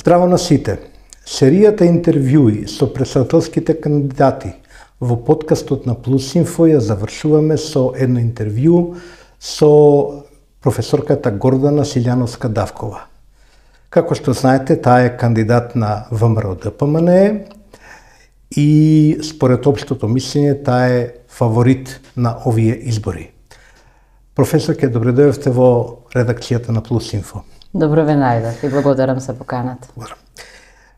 Здраво на сите! Серијата интервјуи со претседателските кандидати во подкастот на Плюс Инфо ја завршуваме со едно интервју со професорката Гордана Силјановска-Давкова. Како што знаете, таа е кандидат на ВМРО-ДПМНЕ и според општото мислење таа е фаворит на овие избори. Професорке, добре дојдовте во редакцијата на Плюс Инфо. Добро ве најдов и благодарам за поканата.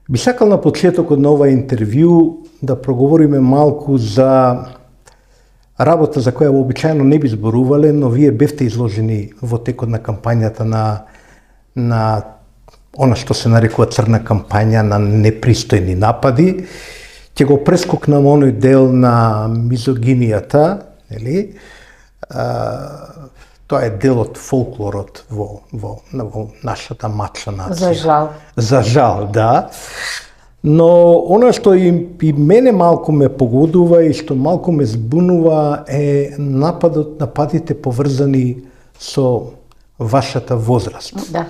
Би сакал на почетокот на ова интервју да проговориме малку за работа за која вообичаено не би зборувале, но вие бевте изложени во текот на кампањата на она што се нарекува црна кампања, на непристојни напади. Ќе го прескокнам оној дел на мизогинијата, нели? Тоа е дел од фолклорот во нашата мача нација. За жал. За жал, да. Но она што и мене малку ме погодува и што малку ме збунува е нападите поврзани со вашата возраст. Да.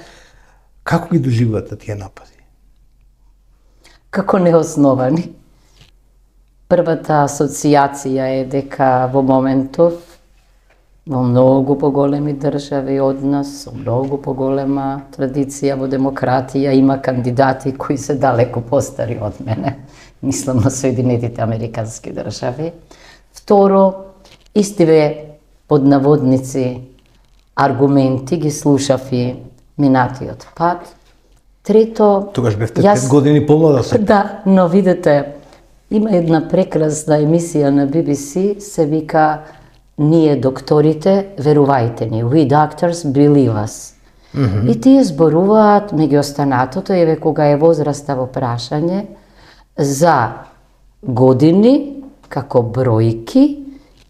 Како ги доживувате тие напади? Како неосновани. Првата асоциација е дека во моментов во многу поголеми држави од нас, со многу поголема традиција во демократија, има кандидати кои се далеко постари од мене. Мислам на Соединетите Американски држави. Второ, истиве под наводници аргументи ги слушав и минатиот пат. Трето, Тогаш бевте 5 години помлада се. Да, но видете, има една прекрасна емисија на BBC, се вика "Ние докторите, верувајте ни, we doctors believe us". И тие зборуваат меѓу останатото, еве кога е возраста во прашање, за години како бројки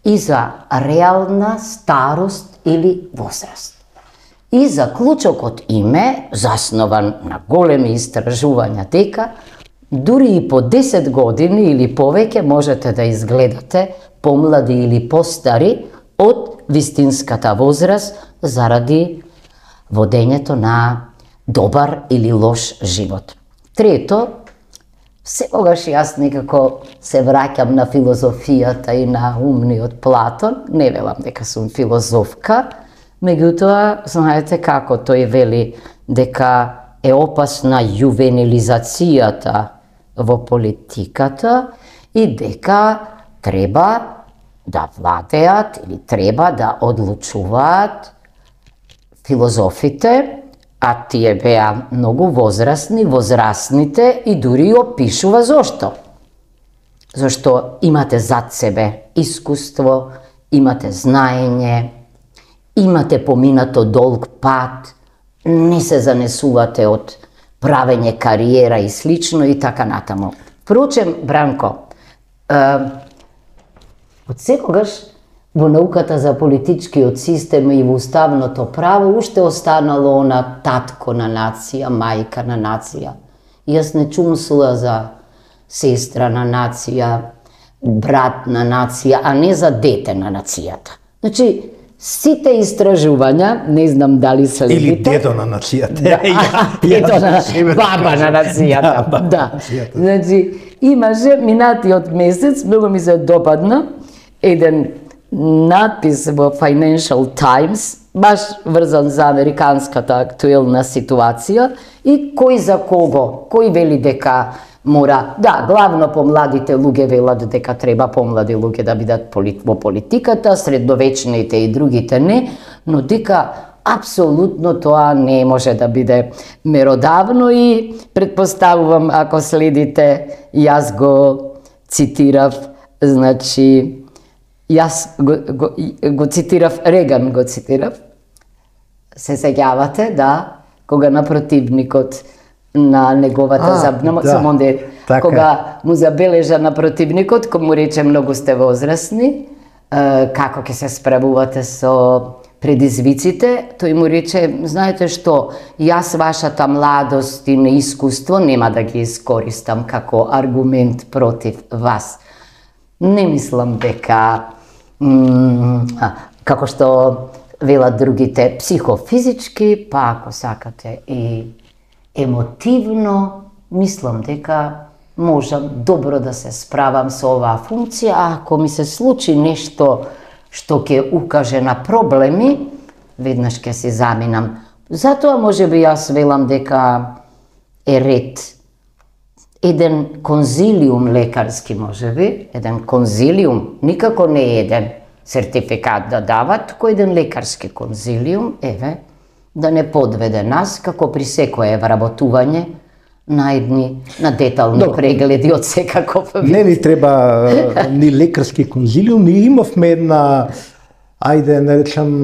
и за реална старост или возраст. И заклучокот име, заснован на големи истражувања, дека дури и по 10 години или повеќе можете да изгледате помлади или постари од вистинската возраст заради водењето на добар или лош живот. Трето, секогаш јас некако се враќам на филозофијата и на умниот Платон, не велам дека сум филозофка, меѓутоа, знаете како тој вели дека е опасна јувенилизацијата во политиката и дека треба да владеат или треба да одлучуваат филозофите, а тие беа многу возрастните и дури опишува зошто. Зашто имате зад себе искуство, имате знаење, имате поминато долг пат, не се занесувате од правење кариера и слично и така натаму. Впрочем, Бранко, од секогаш во науката за политичкиот систем и во уставното право уште останало она татко на нација, мајка на нација. Јас не чумсула за сестра на нација, брат на нација, а не за дете на нацијата. Значи, сите истражувања, не знам дали следите... Или дедо на нацијата. Дедо на баба на нацијата. Да. Значи, имаше минатиот месец, многу ми се допадна, еден надпис во Financial Times, баш врзан за американската актуелна ситуација и кој за кого, кој вели дека мора, да, главно помладите луѓе велат дека треба помлади луѓе да бидат во политиката, средновечните и другите не, но дека апсолутно тоа не може да биде меродавно и предпоставувам, ако следите, јас го цитирав, значи, јас го цитирав, Реган го цитирав, се сеќавате, да, кога на противникот на неговата самондер, кога му забележа на противникот, кој му рече многу сте возрастни, како ќе се справувате со предизвиците, тој му рече, знаете што, јас вашата младост и неискуство нема да ги искористам како аргумент против вас. Не мислам дека, како што велат другите, психофизички, па ако сакате и емотивно мислам дека можам добро да се справам со оваа функција, а ако ми се случи нешто што ќе укаже на проблеми, веднаш ќе се заминам. Затоа можеби јас велам дека е ред еден конзилиум лекарски, можеби, еден конзилиум, никако не еден сертификат да дават, туку еден лекарски конзилиум, да не подведе нас, како при секое вработување, на детални прегледи од секаков вид. Не ни треба ни лекарски конзилиум, ние имавме една, ајде наречам,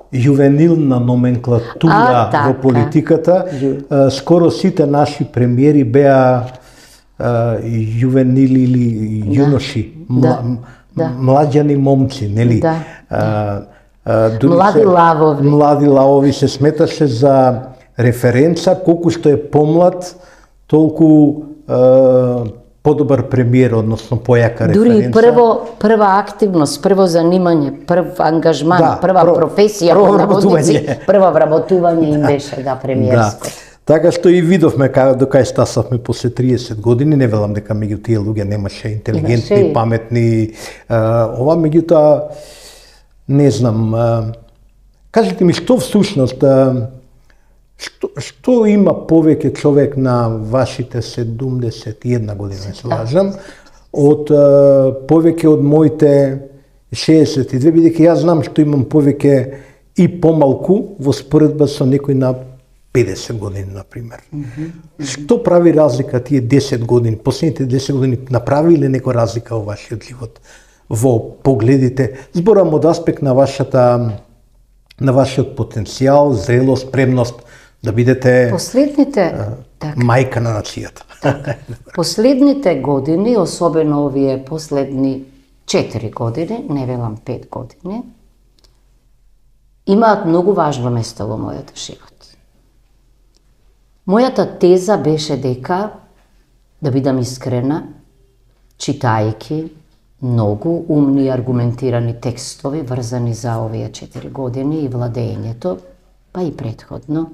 јувенилна номенклатура во политиката. Скоро сите наши премиери беа јувенили или јуноши, млаѓани момци, нели? Млади лавови. Млади лавови се сметаше за референца, колку што е помлад, толку подобар премиер, односно појака референца. Дури прва активност, прво занимање, прв ангажман, прва професија, прво вработување им беше премиерско. Така што и видовме до кај стасавме после 30 години, не велам дека меѓу тие луѓе немаше интелигентни, паметни, ова меѓутоа не знам. Кажете ми што всушност што има повеќе човек на вашите 71 година, се лажам, од повеќе од моите 62, бидејќи јас знам што имам повеќе и помалку во споредба со некој на 50 години, например. Што прави разлика тие 10 години, последните 10 години направи ли некоја разлика во вашиот живот, во погледите? Зборам од аспект на вашиот потенцијал, зрелост, спремност да бидете мајка на нацијата. Последните години, особено овие последни 4 години, не велам 5 години, имаат многу важно место во мојот живот. Мојата теза беше дека, да бидам искрена, читајќи многу умни и аргументирани текстови врзани за овие 4 години и владењето, па и претходно,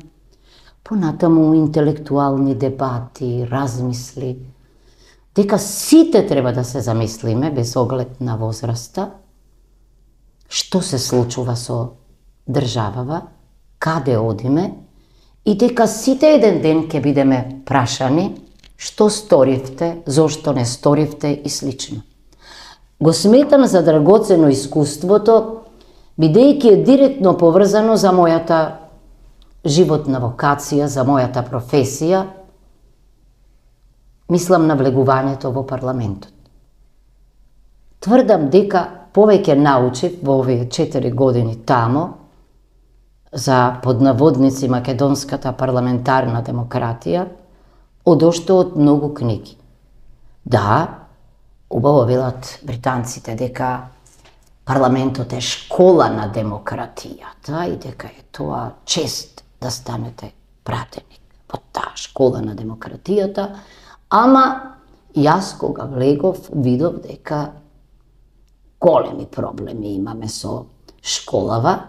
понатаму интелектуални дебати, размисли, дека сите треба да се замислиме без оглед на возраста, што се случува со државава, каде одиме, и дека сите еден ден ќе бидеме прашани што сторивте, зошто не сторивте и слично. Го сметам за драгоцено искуството, бидејќи е директно поврзано за мојата животна вокација, за мојата професија, мислам на влегувањето во парламентот. Тврдам дека повеќе научив во овие 4 години тамо за поднаводници македонската парламентарна демократија, од ошто од многу книги. Да, убаво велат британците дека парламентот е школа на демократијата и дека е тоа чест да станете пратеник во таа школа на демократијата, ама јас кога влегов видов дека големи проблеми имаме со школава,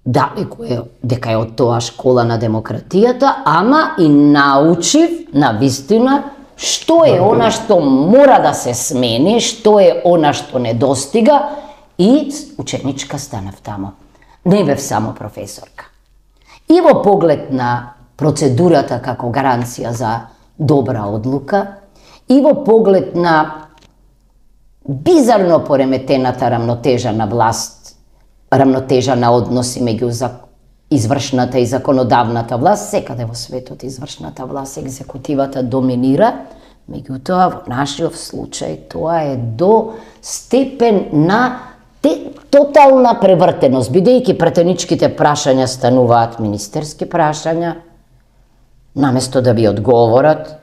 дека е од тоа школа на демократијата, ама и научив на вистина што е она што мора да се смени, што е она што недостига, и ученичка станав тамо. Не бев само професорка. И во поглед на процедурата како гаранција за добра одлука, и во поглед на бизарно пореметената рамнотежа на власт, рамнотежа на односи меѓу извршната и законодавната власт, секаде во светот извршната власт, екзекутивата доминира, меѓутоа во нашиот случај тоа е до степен на тотална превртеност, бидејќи пратеничките прашања стануваат министерски прашања, наместо да ви одговорат,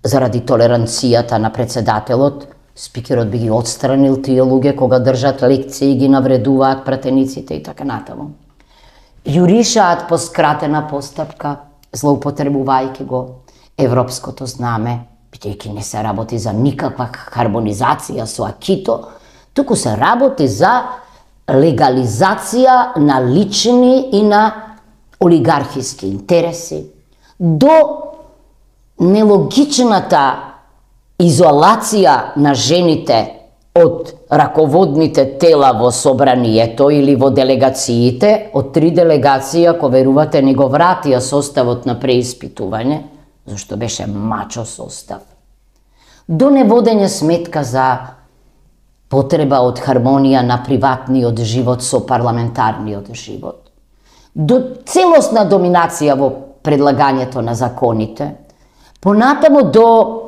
заради толеранцијата на председателот, спикерот би ги отстранил тие луѓе кога држат лекции и ги навредуваат пратениците и така натаму. Јуришаат по скратена постапка, злоупотребувајќи го европското знаме, бидејќи не се работи за никаква хармонизација со акито, туку се работи за легализација на лични и на олигархиски интереси, до нелогичната изолација на жените од раководните тела во собранието или во делегациите, од 3 делегации, ако верувате, ни го вратија составот на преиспитување, зашто беше мачо состав, до неводење сметка за потреба од хармонија на приватниот живот со парламентарниот живот, до целосна доминација во предлагањето на законите, понатаму до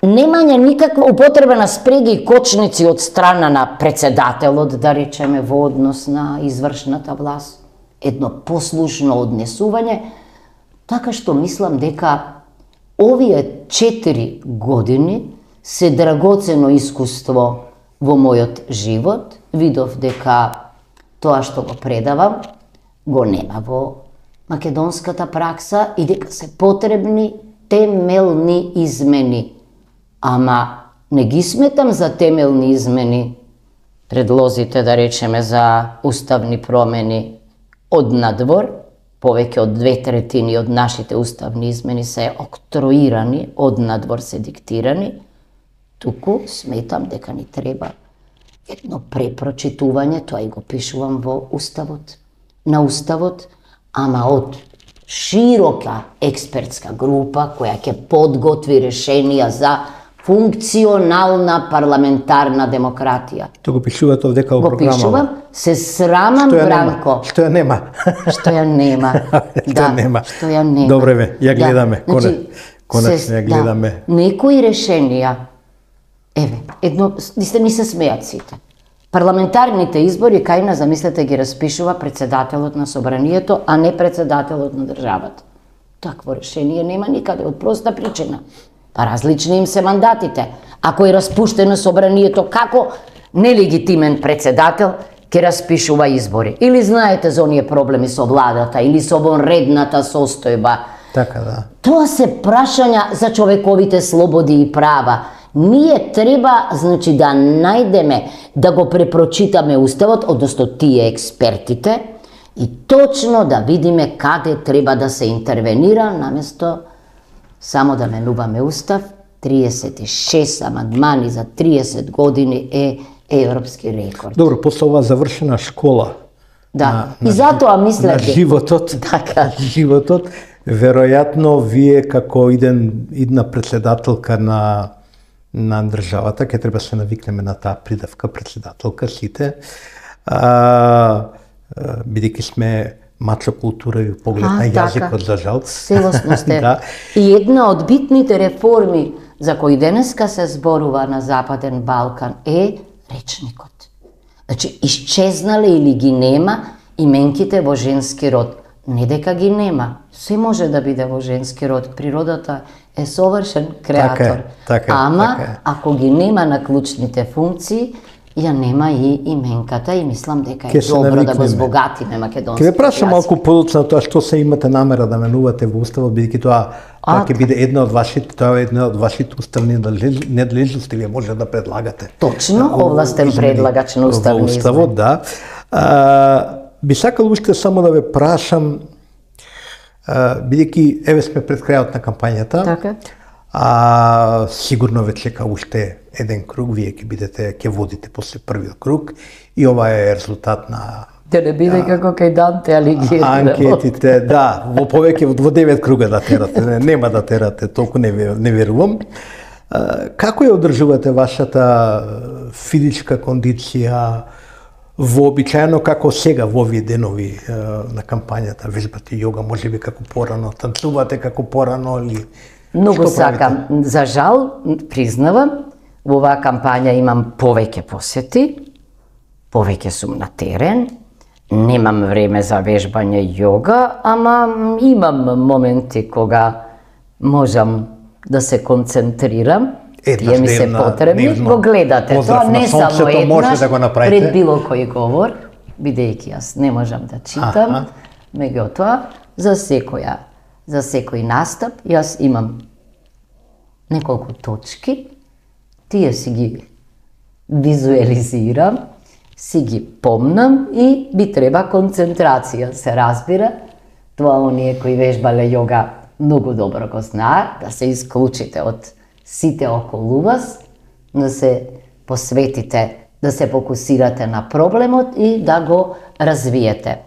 немање никаква употреба на спреги и кочници од страна на председателот, да речеме, во однос на извршната власт, едно послушно однесување, така што мислам дека овие 4 години се драгоцено искуство во мојот живот. Видов дека тоа што го предавам го нема во македонската пракса и дека се потребни темелни измени. Ама не ги сметам за темелни измени предлозите, да речеме, за уставни промени од надвор. Повеќе од 2/3 од нашите уставни измени се октроирани, од надвор се диктирани. Туку сметам дека ни треба едно препрочитување, тоа и го пишувам во уставот, на уставот, ама од широка експертска група која ќе подготви решенија за функционална парламентарна демократија. Тоа го пишувате овдека во програма. Го пишувам, се срамам, Бранко. Што ја нема. Што ја нема. Што нема. Што ја нема. Добре бе, ја гледаме. Конечно ја гледаме. Некои решенија, еве, едно, ми се смеат сите. Парламентарните избори кај нас, замислете, ги распишува председателот на собранието, а не председателот на државата. Такво решение нема никаде, од проста причина. Па различни им се мандатите. Ако е распуштено собранието, како нелегитимен председател ќе распишува избори? Или знаете за оние проблеми со владата, или со вонредната состојба? Така да. Тоа се прашања за човековите слободи и права. Ние треба, значи, да најдеме, да го препрочитаме уставот, одnosno тие експертите, и точно да видиме каде треба да се интервенира, наместо само да менуваме устав. 36 амандмани за 30 години е европски рекорд. Добро, после ова завршена школа. Да, и затоа мислете. На животот. Така. Животот, веројатно вие како идна председателка на државата, ќе треба се навикнеме на таа придавка председателка сите, бидејќи сме мачо култура и поглед на јазикот, за жал. Целосно сте. Да. И една од битните реформи за кои денеска се зборува на Западен Балкан е речникот. Значи, исчезнале или ги нема именките во женски род. Не дека ги нема, се може да биде во женски род. Природата е совршен креатор. Ама, ако ги нема на клучните функции, ја нема и именката и мислам дека е добро да го збогатиме македонски. Ќе ве прашам малку подоцна тоа што се имате намера да менувате во уставот, бидејќи тоа ќе биде една од вашите уставни надлежности, вие може да предлагате. Точно, овластен предлагач на уставни измени. Во уставот, да. Би сакал уште само да ве прашам, бидејќи еве сме пред крајот на кампањата. Така. Сигурно ве чека уште еден круг, вие ќе водите после првиот круг и ова е резултат на да не биде како кај Данте Алигиери. Анкетите, да, во повеќе во 9 круга да терате, нема да терате, толку не верувам. Како ја одржувате вашата физичка кондиција вообичаено како сега во овие денови на кампањата? Вежбате јога, можеби како порано, танцувате како порано или Многу сакам. За жал, признавам, во оваа кампања имам повеќе посети, повеќе сум на терен, немам време за вежбање јога, ама имам моменти кога можам да се концентрирам. Тие ми се потребни, го гледате. Тоа не само еднаш, пред било кој говор, бидејќи јас не можам да читам, меѓутоа, за секој настап, јас имам неколку точки, тие си ги визуализирам, си ги помнам и би треба концентрација, се разбира. Тоа оние кои вежбале јога многу добро го знаат, да се исклучите од сите околу вас, да се посветите, да се фокусирате на проблемот и да го развиете.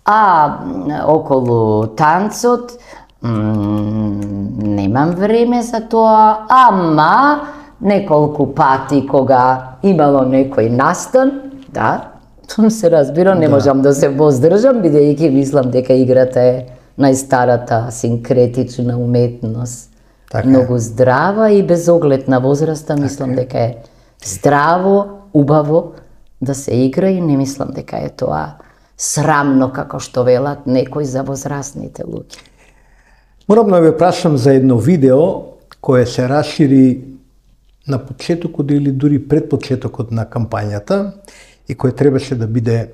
А околу танцот, немам време за тоа, ама неколку пати кога имало некој настан, да, се разбира, не можам да се воздржам, бидејќи мислам дека играта е најстарата синкретична уметност. Така многу здрава и без оглед на возраста, мислам дека е здраво, убаво да се игра и не мислам дека е тоа срамно, како што велат некои за возрастните луѓе. Морам да ве прашам за едно видео кое се расшири на почетокот или дури пред почетокот на кампањата и кое требаше да биде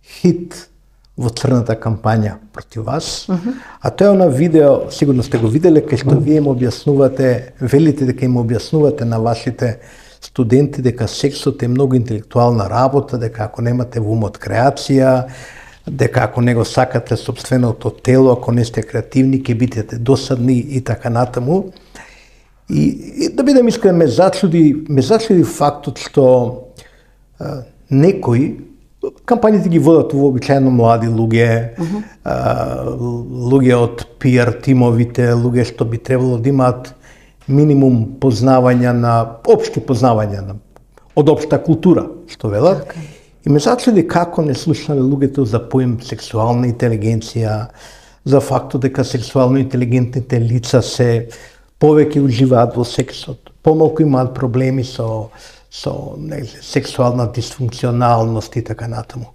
хит во црната кампања против вас. А тоа е на видео, сигурно сте го виделе, кај што вие им објаснувате, велите дека им објаснувате на вашите студенти дека сексот е многу интелектуална работа, дека ако немате во умот креација, дека ако не го сакате собственото тело, ако не сте креативни, ќе бидете досадни и така натаму. И да бидем искрен, ме зачуди фактот што некои кампањите ги водат вообичаено млади луѓе, луѓе од PR тимовите, луѓе што би требало да имаат минимум познавања на општи познавања од општа култура, што велат. И ме зачуди како не слушнале луѓето за поим сексуална интелигенција, за фактот дека сексуално интелигентните лица се повеќе уживаат во сексот, помалку имаат проблеми со сексуална дисфункционалност и така натаму.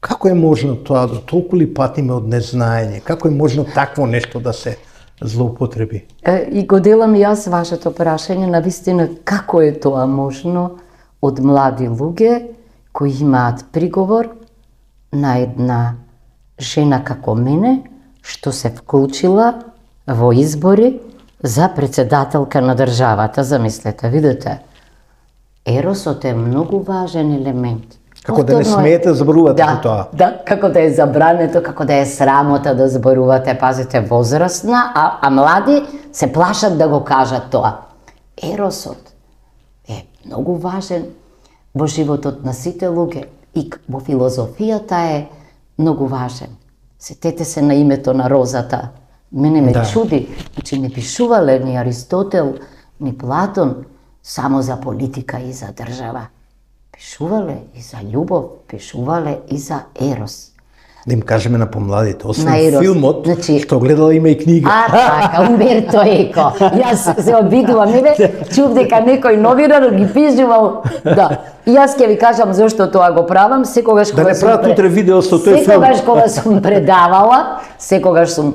Како е можно тоа да толку ли патиме од незнаење? Како е можно такво нешто да се злоупотреби? И го делам и јас вашето прашање, навистина како е тоа можно од млади луѓе кои имаат приговор на една жена како мене, што се вклучила во избори за председателка на државата, замислете, видите. Еросот е многу важен елемент. Како да не смеете да зборувате за тоа. Да, како да е забрането, како да е срамота да зборувате, пазите, возрастна, а млади се плашат да го кажат тоа. Еросот е многу важен во животот на сите луѓе и во филозофијата е многу важен. Сетете се на името на розата. Мене ме чуди, значи не пишувале ни Аристотел, ни Платон само за политика и за држава. Пишувале и за љубов, пишувале и за ерос. Да им кажеме на помладите, освен филмот, што гледала има и книга. Така, Умберто Еко. Јас се обидувам, чув дека некој новинар ги пишувал. Да. И јас ќе ви кажам зошто тоа го правам, секогаш кога не прават утре видео со тој филм. Секогаш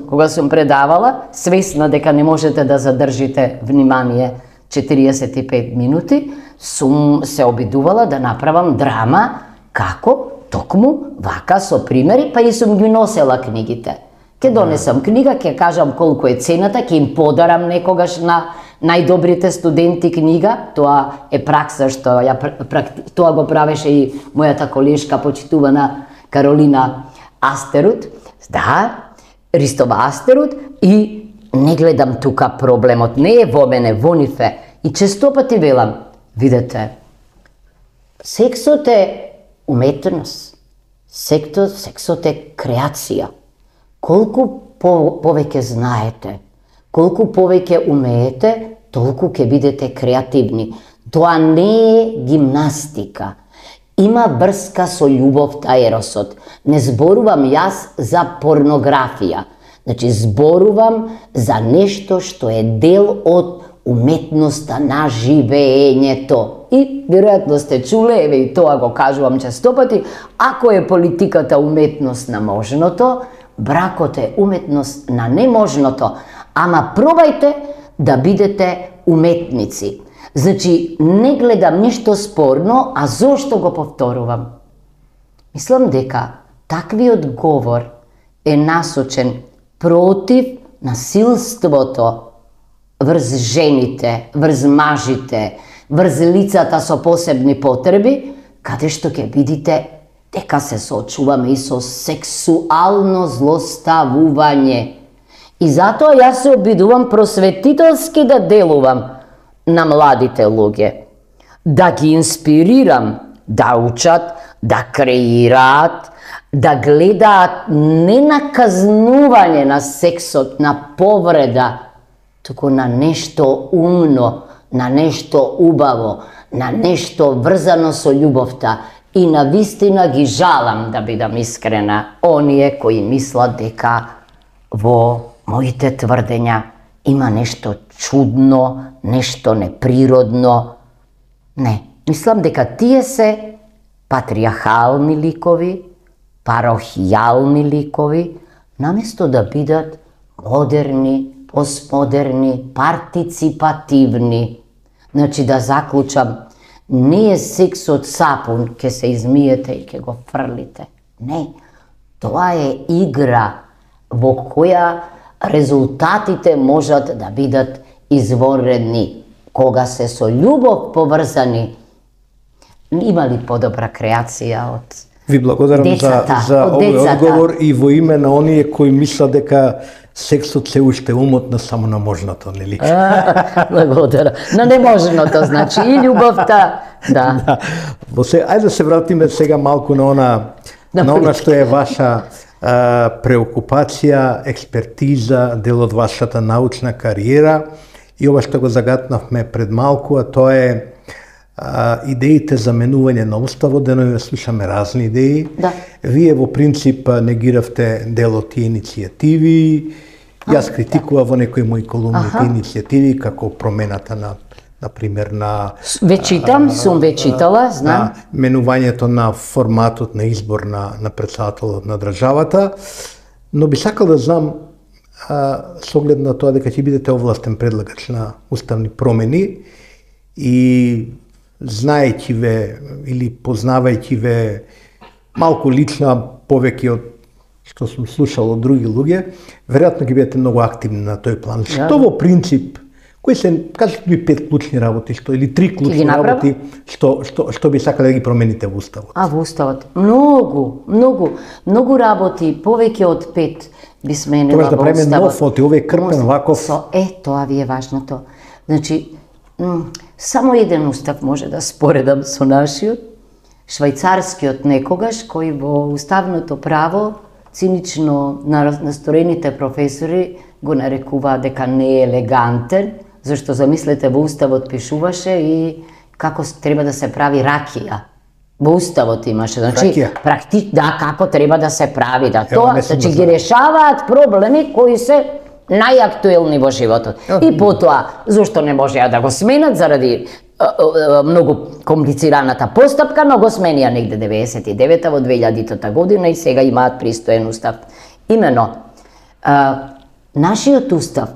кога сум предавала, свесна дека не можете да задржите внимание 45 минути, сум се обидувала да направам драма како токму вака со примери, па и сум ги носела книгите. Ке донесам книга, ке кажам колку е цената, ке им подарам некогаш на најдобрите студенти книга. Тоа е пракса што тоа го правеше и мојата колешка почитувана Каролина Астерут. Да, Ристова Астерут, и не гледам тука проблемот, не е во мене, во нив е. И често пати велам, видете, сексот е уметност, сексот е креација. Колку повеќе знаете, колку повеќе умеете, толку ќе бидете креативни. Тоа не е гимнастика. Има врска со љубовта, еросот. Не зборувам јас за порнографија. Значи, зборувам за нешто што е дел од уметноста на живеењето. И веројатно сте чуле, еве и тоа го кажувам честопати, ако е политиката уметност на можното, бракот е уметност на неможното. Ама пробајте да бидете уметници. Значи, не гледам ништо спорно, а зошто го повторувам? Мислам дека таквиот говор е насочен против насилството врз жените, врз мажите, врз лицата со посебни потреби, каде што ќе видите дека се соочуваме и со сексуално злоставување. И затоа јас се обидувам просветителски да делувам на младите луѓе, да ги инспирирам, да учат, да креираат, да гледаат не на казнување на сексот, на повреда, туку на нешто умно, на нешто убаво, на нешто врзано со љубовта. И на вистина ги жалам, да бидам искрена, оние кои мислат дека во моите тврдења има нешто чудно, нешто неприродно. Не, мислам дека тие се патриархални ликови, парохијални ликови, наместо да бидат модерни, постмодерни, партиципативни. Значи да заклучам, не е сексот сапун, ке се измиете и ке го фрлите. Не, тоа е игра во која резултатите можат да бидат изворедни. Кога се со љубов поврзани, има ли подобра креација од Ви благодарам децата, за од овој децата? одговор и во име на оние кои мислат дека сексот се уште умотна само на можното, нели? Благодарам. На неможното, значи, и љубовта, да. Ајде да се вратиме сега малку на она што е ваша преокупација, експертиза, дел од вашата научна кариера и ова што го загатнавме пред малку, а тоа е идеите за менување на уставот. Деновиве слушаме разни идеи. Да. Вие во принцип негиравте дел од тие иницијативи. Јас критикував во некои мои колумни тие иницијативи, како промената на пример на Ве читам, сум ве читала, знам. на менувањето на форматот на избор на претседателот на државата, но би сакал да знам со оглед на тоа дека ќе бидете овластен предлагач на уставни промени и знаејќи ве или познавајќи ве малку лично, повеќе од што сум слушал од други луѓе, веројатно ќе бидете многу активни на тој план. Што во принцип, кои се, кажете ми 5 клучни работи, или 3 клучни работи, што би сакале да ги промените во уставот? Во уставот? Многу работи, повеќе од 5 би сменила во уставот. Тоа да правиме нов, овој крпен ваков. Тоа ви е важното. Значи, само еден устав може да споредам со нашиот, швајцарскиот некогаш, кој во уставното право цинично настроените професори го нарекуваа дека не е елегантен, зашто замислете во уставот пишуваше и како треба да се прави ракија. Во уставот имаше, значи да, како треба да се прави, да тоа, значи ги решаваат проблеми кои се најактуелни во животот. И потоа, зошто не можеа да го сменат заради многу комплицираната постапка, но го сменија негде 99-та во 2000-та година и сега имаат пристоен устав. Имено, нашиот устав,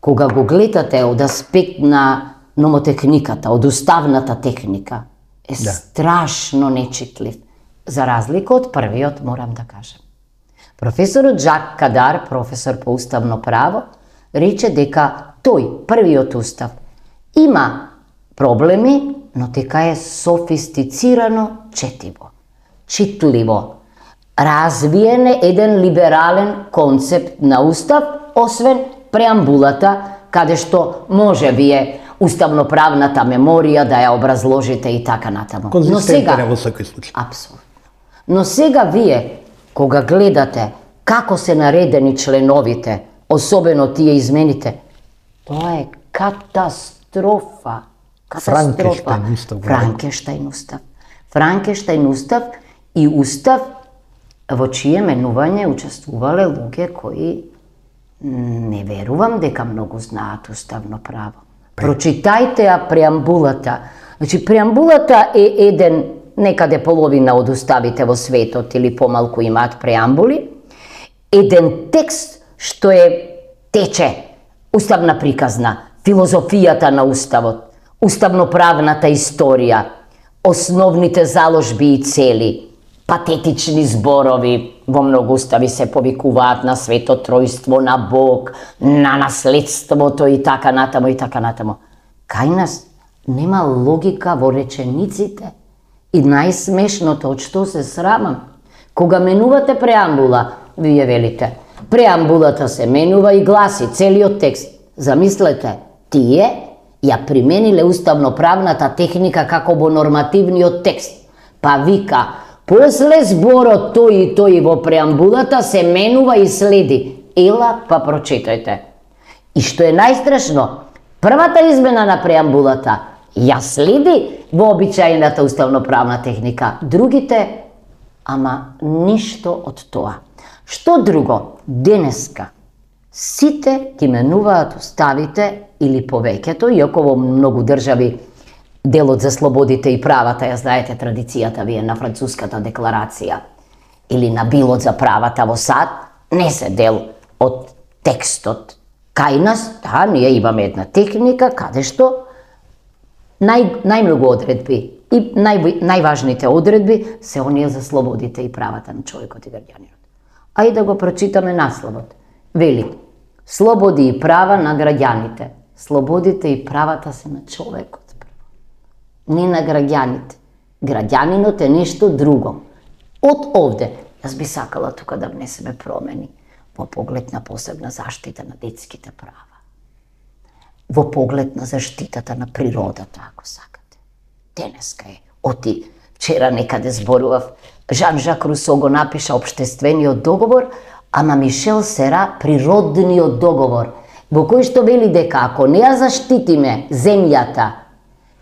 кога го гледате од аспект на номотехниката, од уставната техника, е страшно нечитлив, за разлика од првиот, морам да кажам. Професорот Жак Кадар, професор по уставно право, рече дека тој, првиот устав, има проблеми, но дека е софистицирано четиво, читливо. Развиен е еден либерален концепт на устав, освен преамбулата, каде што може би е уставноправната меморија да ја образложите и така натаму. Но сега, во секој случај. Апсолутно. Но сега вие, кога гледате како се наредени членовите, особено тие измените, тоа е катастрофа. Франкенштајн устав и устав во чие менување учествувале луѓе кои не верувам дека многу знаат уставно право. Прочитајте ја преамбулата. Значи, преамбулата е еден, некаде половина од уставите во светот или помалку имаат преамбули, еден текст што тече, уставна приказна, филозофијата на уставот, уставноправната историја, основните заложби и цели, патетични зборови, во многу устави се повикуваат на свето тројство, на Бог, на наследството и така натаму и така натаму. Кај нас нема логика во речениците. И најсмешното, од што се срамам, кога менувате преамбула, вие велите, Преамбулата се менува и гласи целиот текст. Замислете, тие ја примениле уставноправната техника како во нормативниот текст. Па вика, после зборот тој и тој во преамбулата се менува и следи. Ела, па прочитајте. И што е најстрашно, првата измена на преамбулата ја следи вообичаената уставноправна техника. Другите, ама ништо од тоа. Што друго? Денеска сите ги менуваат уставите или повеќето, иако во многу држави делот за слободите и правата, ја знаете традицијата вие на француската декларација, или на билот за правата во САД, не се дел од текстот. Кај нас, да, ние имаме една техника каде што најмногу одредби и најважните одредби се оние за слободите и правата на човекот и граѓанинот. Ајде да го прочитаме насловот. Вели, слободи и права на граѓаните. Слободите и правата се на човекот, не на граѓаните. Граѓанинот е нешто друго. Од овде, јас би сакала тука да внесеме промени во поглед на посебна заштита на детските права, во поглед на заштитата на природата, ако сакате. Денеска е. Оти, вчера некаде зборував, Жан-Жак Русо го напиша Обштествениот договор, ама Мишел Сера Природниот договор, во кој што вели дека ако не ја заштитиме земјата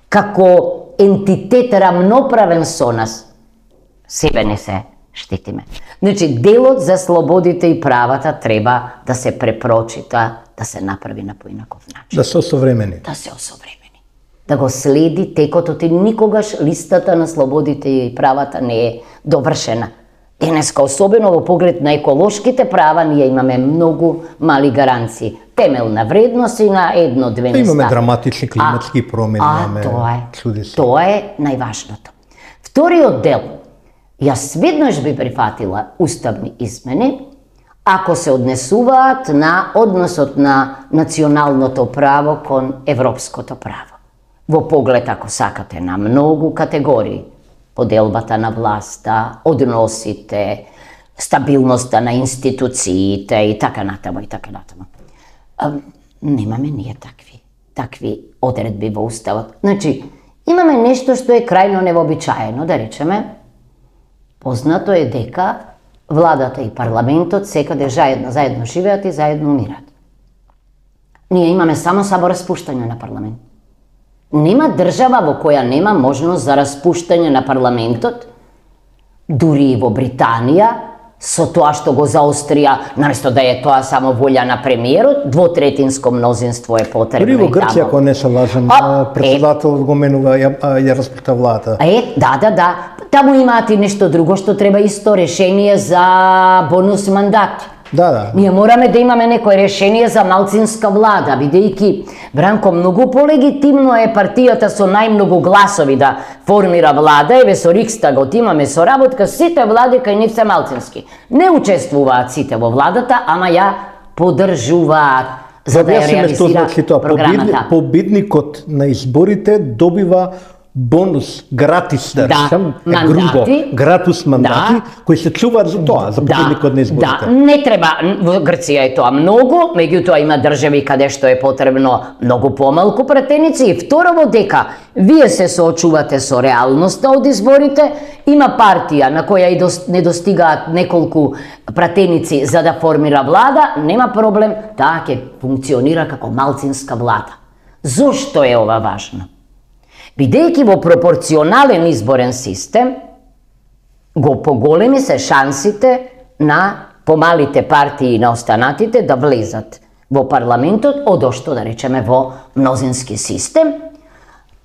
како ентитет рамноправен со нас, себе не се штитиме. Значи, делот за слободите и правата треба да се препрочита, да се направи на поинаков начин. Да се осовремени. Да се осовремени. Да го следи текотот и никогаш листата на слободите и правата не е довршена. Денеска, особено во поглед на еколошките права, ние имаме многу мали гаранции. Темелна вредност и на едно-две места. Имаме драматични климатски промени. Тоа е најважното. Вториот дел, јас веднаш би прифатила уставни измени, ако се однесуваат на односот на националното право кон европското право. Во поглед, ако сакате, на многу категории. Поделбата на власта, односите, стабилноста на институциите и така натаму и така натаму. Немаме ние такви одредби во уставот. Значи, имаме нешто што е крајно невообичаено, да речеме. Познато е дека владата и парламентот секаде заедно живеат и заедно умират. Ние имаме само самораспуштање на парламент. Нема држава во која нема можност за распуштање на парламентот, дури и во Британија, со тоа што го заострија, наместо да е тоа само волја на премиерот, двотретинско мнозинство е потребно. Дури во Грција, ако не се лажам, председателот го менува, ја распушта влада. Да. Таму имаат и нешто друго што треба исто решение за бонус мандати. Да. Ние мораме да имаме некое решение за малцинска влада, бидејќи, Бранко, многу полегитимно е партијата со најмногу гласови да формира влада, еве со Рикстагот имаме соработка, сите влади кај нив се малцински. Не учествуваат сите во владата, ама ја поддржуваат за да ја реализира програмата. Победникот на изборите добива бонус, гратис, да речем, грубо, гратис мандати, кои се чуваат за тоа, за победникот на изборите. Да, не треба, во Грција е тоа многу, меѓутоа има држави каде што е потребно многу помалку пратеници. И второво дека вие се соочувате со реалноста од изборите, има партија на која и не достигаат неколку пратеници за да формира влада, нема проблем, таа ќе функционира како малцинска влада. Зошто е ова важно? Бидејќи во пропорционален изборен систем, го поголеми се шансите на помалите партии и на останатите да влезат во парламентот, одошто да речеме во мнозински систем.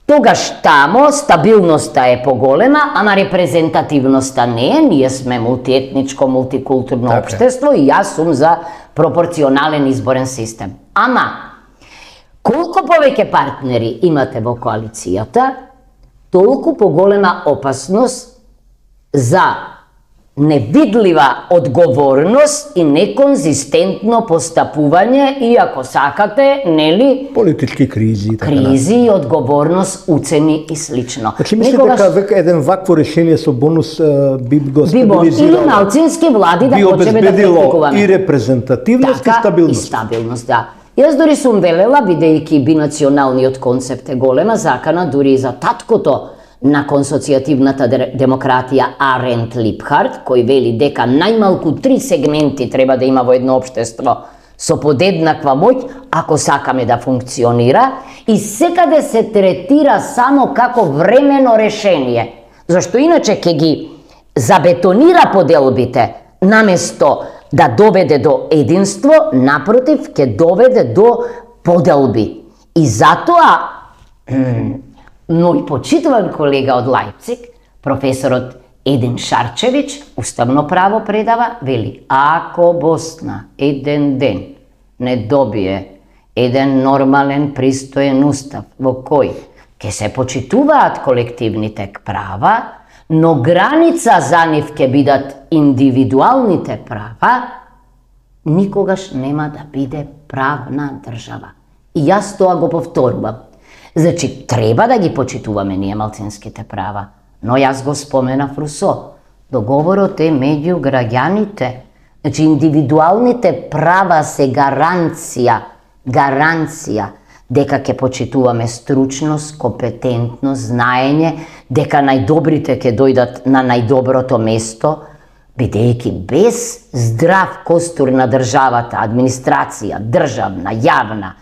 Тогаш тамо стабилноста е поголема, ама репрезентативноста не е. Ние сме мултиетничко, мултикултурно општество и јас сум за пропорционален изборен систем. Ама, колку повеќе партнери имате во коалицијата, толку поголема опасност за невидлива одговорност и неконзистентно постапување и, ако сакате, нели, политички кризи, кризи и одговорност, уцени и слично. Значи мислите дека еден вакво решение со бонус би го стабилизирало или малцински влади да почнеме да практикуваме и репрезентативност и стабилност. И стабилност, да. Јас дори сум велела, бидејќи бинационалниот концепт е голема закана, дури и за таткото на консоцијативната демократија Арент Липхард, кој вели дека најмалку 3 сегменти треба да има во едно општество со подеднаква моќ, ако сакаме да функционира, и секаде се третира само како времено решение, зашто иначе ќе ги забетонира поделбите, наместо да доведе до единство, напротив, ќе доведе до поделби. И затоа, но и почитуван колега од Лајпциг, професорот Един Шарчевич, уставно право предава, вели, ако Босна еден ден не добие еден нормален, пристоен устав во кој ќе се почитуваат колективните права, но граница за нив ќе бидат индивидуалните права, никогаш нема да биде правна држава. И јас тоа го повторувам. Значи, треба да ги почитуваме ние малцинските права, но јас го споменав Русо. Договорот е меѓу граѓаните. Значи, индивидуалните права се гаранција дека ќе почитуваме стручност, компетентност, знаење, дека најдобрите ќе дојдат на најдоброто место, бидејќи без здрав костур на државата, администрација, државна, јавна,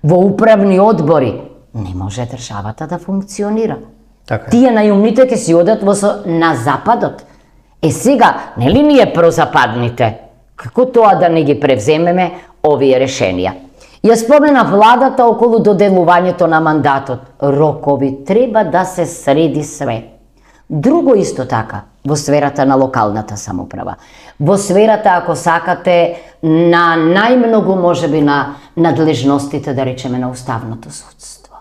во управни одбори, не може државата да функционира. Така. Тие најумните ќе си одат на западот. Сега, нели ние прозападните, како тоа да не ги превземеме овие решенија? Ја спомена владата околу доделувањето на мандатот. Рокови, треба да се среди све. Друго исто така, во сферата на локалната самоуправа. Во сферата, ако сакате, на најмногу можеби на надлежностите, да речеме, на уставното судство.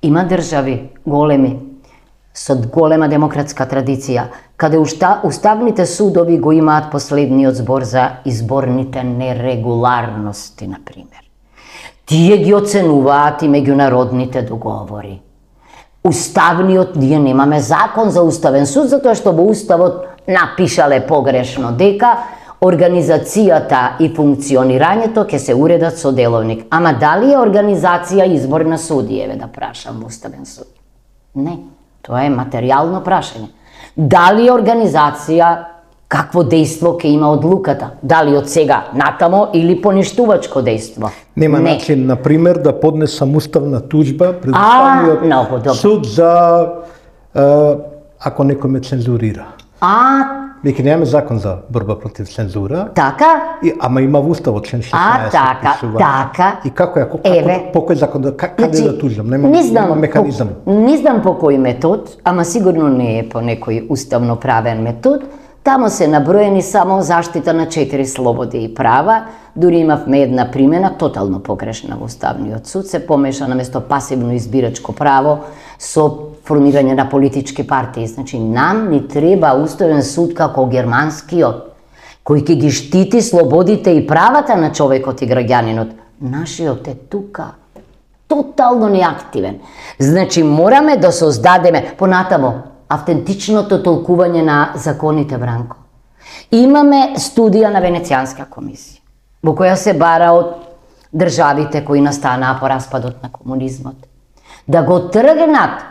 Има држави големи, со голема демократска традиција, каде уставните судови го имаат последниот збор за изборните нерегуларности, например. Тие ги оценуваат и меѓународните договори. Уставниот, ние немаме закон за уставен суд, затоа што во уставот напишале погрешно дека организацијата и функционирањето ќе се уредат со деловник. Ама дали е организација избор на судиеве, да прашам во уставен суд? Не, тоа е материјално прашање. Дали е организација, какво дејство ќе има одлуката? Дали од сега натамо или поништувачко дејство? Нема начин, например, да поднесам уставна тужба пред Уставниот суд за ако некој ме цензурира. Веќе немаме закон за борба против цензура. Така? Ама има во уставот член 16. Така. И како е, по кој закон, каде да тужам? Нема механизам. Не знам по кој метод, ама сигурно не е по некој уставно правен метод. Тамо се наброени само заштита на 4 слободи и права. Дури имавме една примена, тотално погрешна во Уставниот суд, се помеша наместо пасивно избирачко право со формирање на политички партии. Значи, нам ни треба уставен суд како германскиот, кој ќе ги штити слободите и правата на човекот и граѓанинот. Нашиот е тука, тотално неактивен. Значи, мораме да создадеме, понатамо, автентичното толкување на законите, Бранко. Имаме студија на Венецијанска комисија, во која се бара од државите кои настанаа по распадот на комунизмот, да го тргнат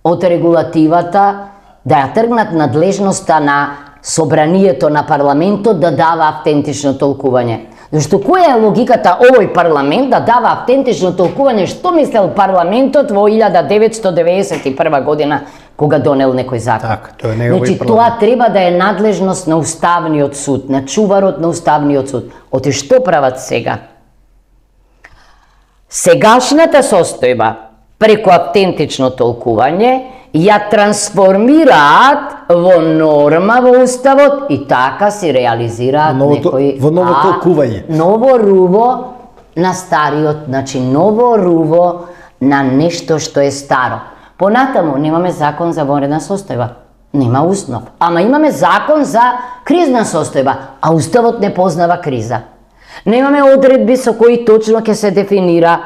од регулативата, да ја тргнат надлежноста на собранието на парламентот да дава автентично толкување. Зашто која е логиката овој парламент да дава автентично толкување што мислел парламентот во 1991 година кога донел некој закон? Така, тоа не е овој парламент. Значи, тоа треба да е надлежност на Уставниот суд, на чуварот на Уставниот суд. Оти што прават сега? Сегашната состојба преку автентично толкување ја трансформираат во норма во Уставот и така си реализираат некој... Во ново толкување. Ново руво на стариот, значи ново руво на нешто што е старо. Понатаму немаме закон за вонредна состојба. Нема уснов. Ама имаме закон за кризна состојба, а уставот не познава криза. Немаме одредби со кои точно ќе се дефинира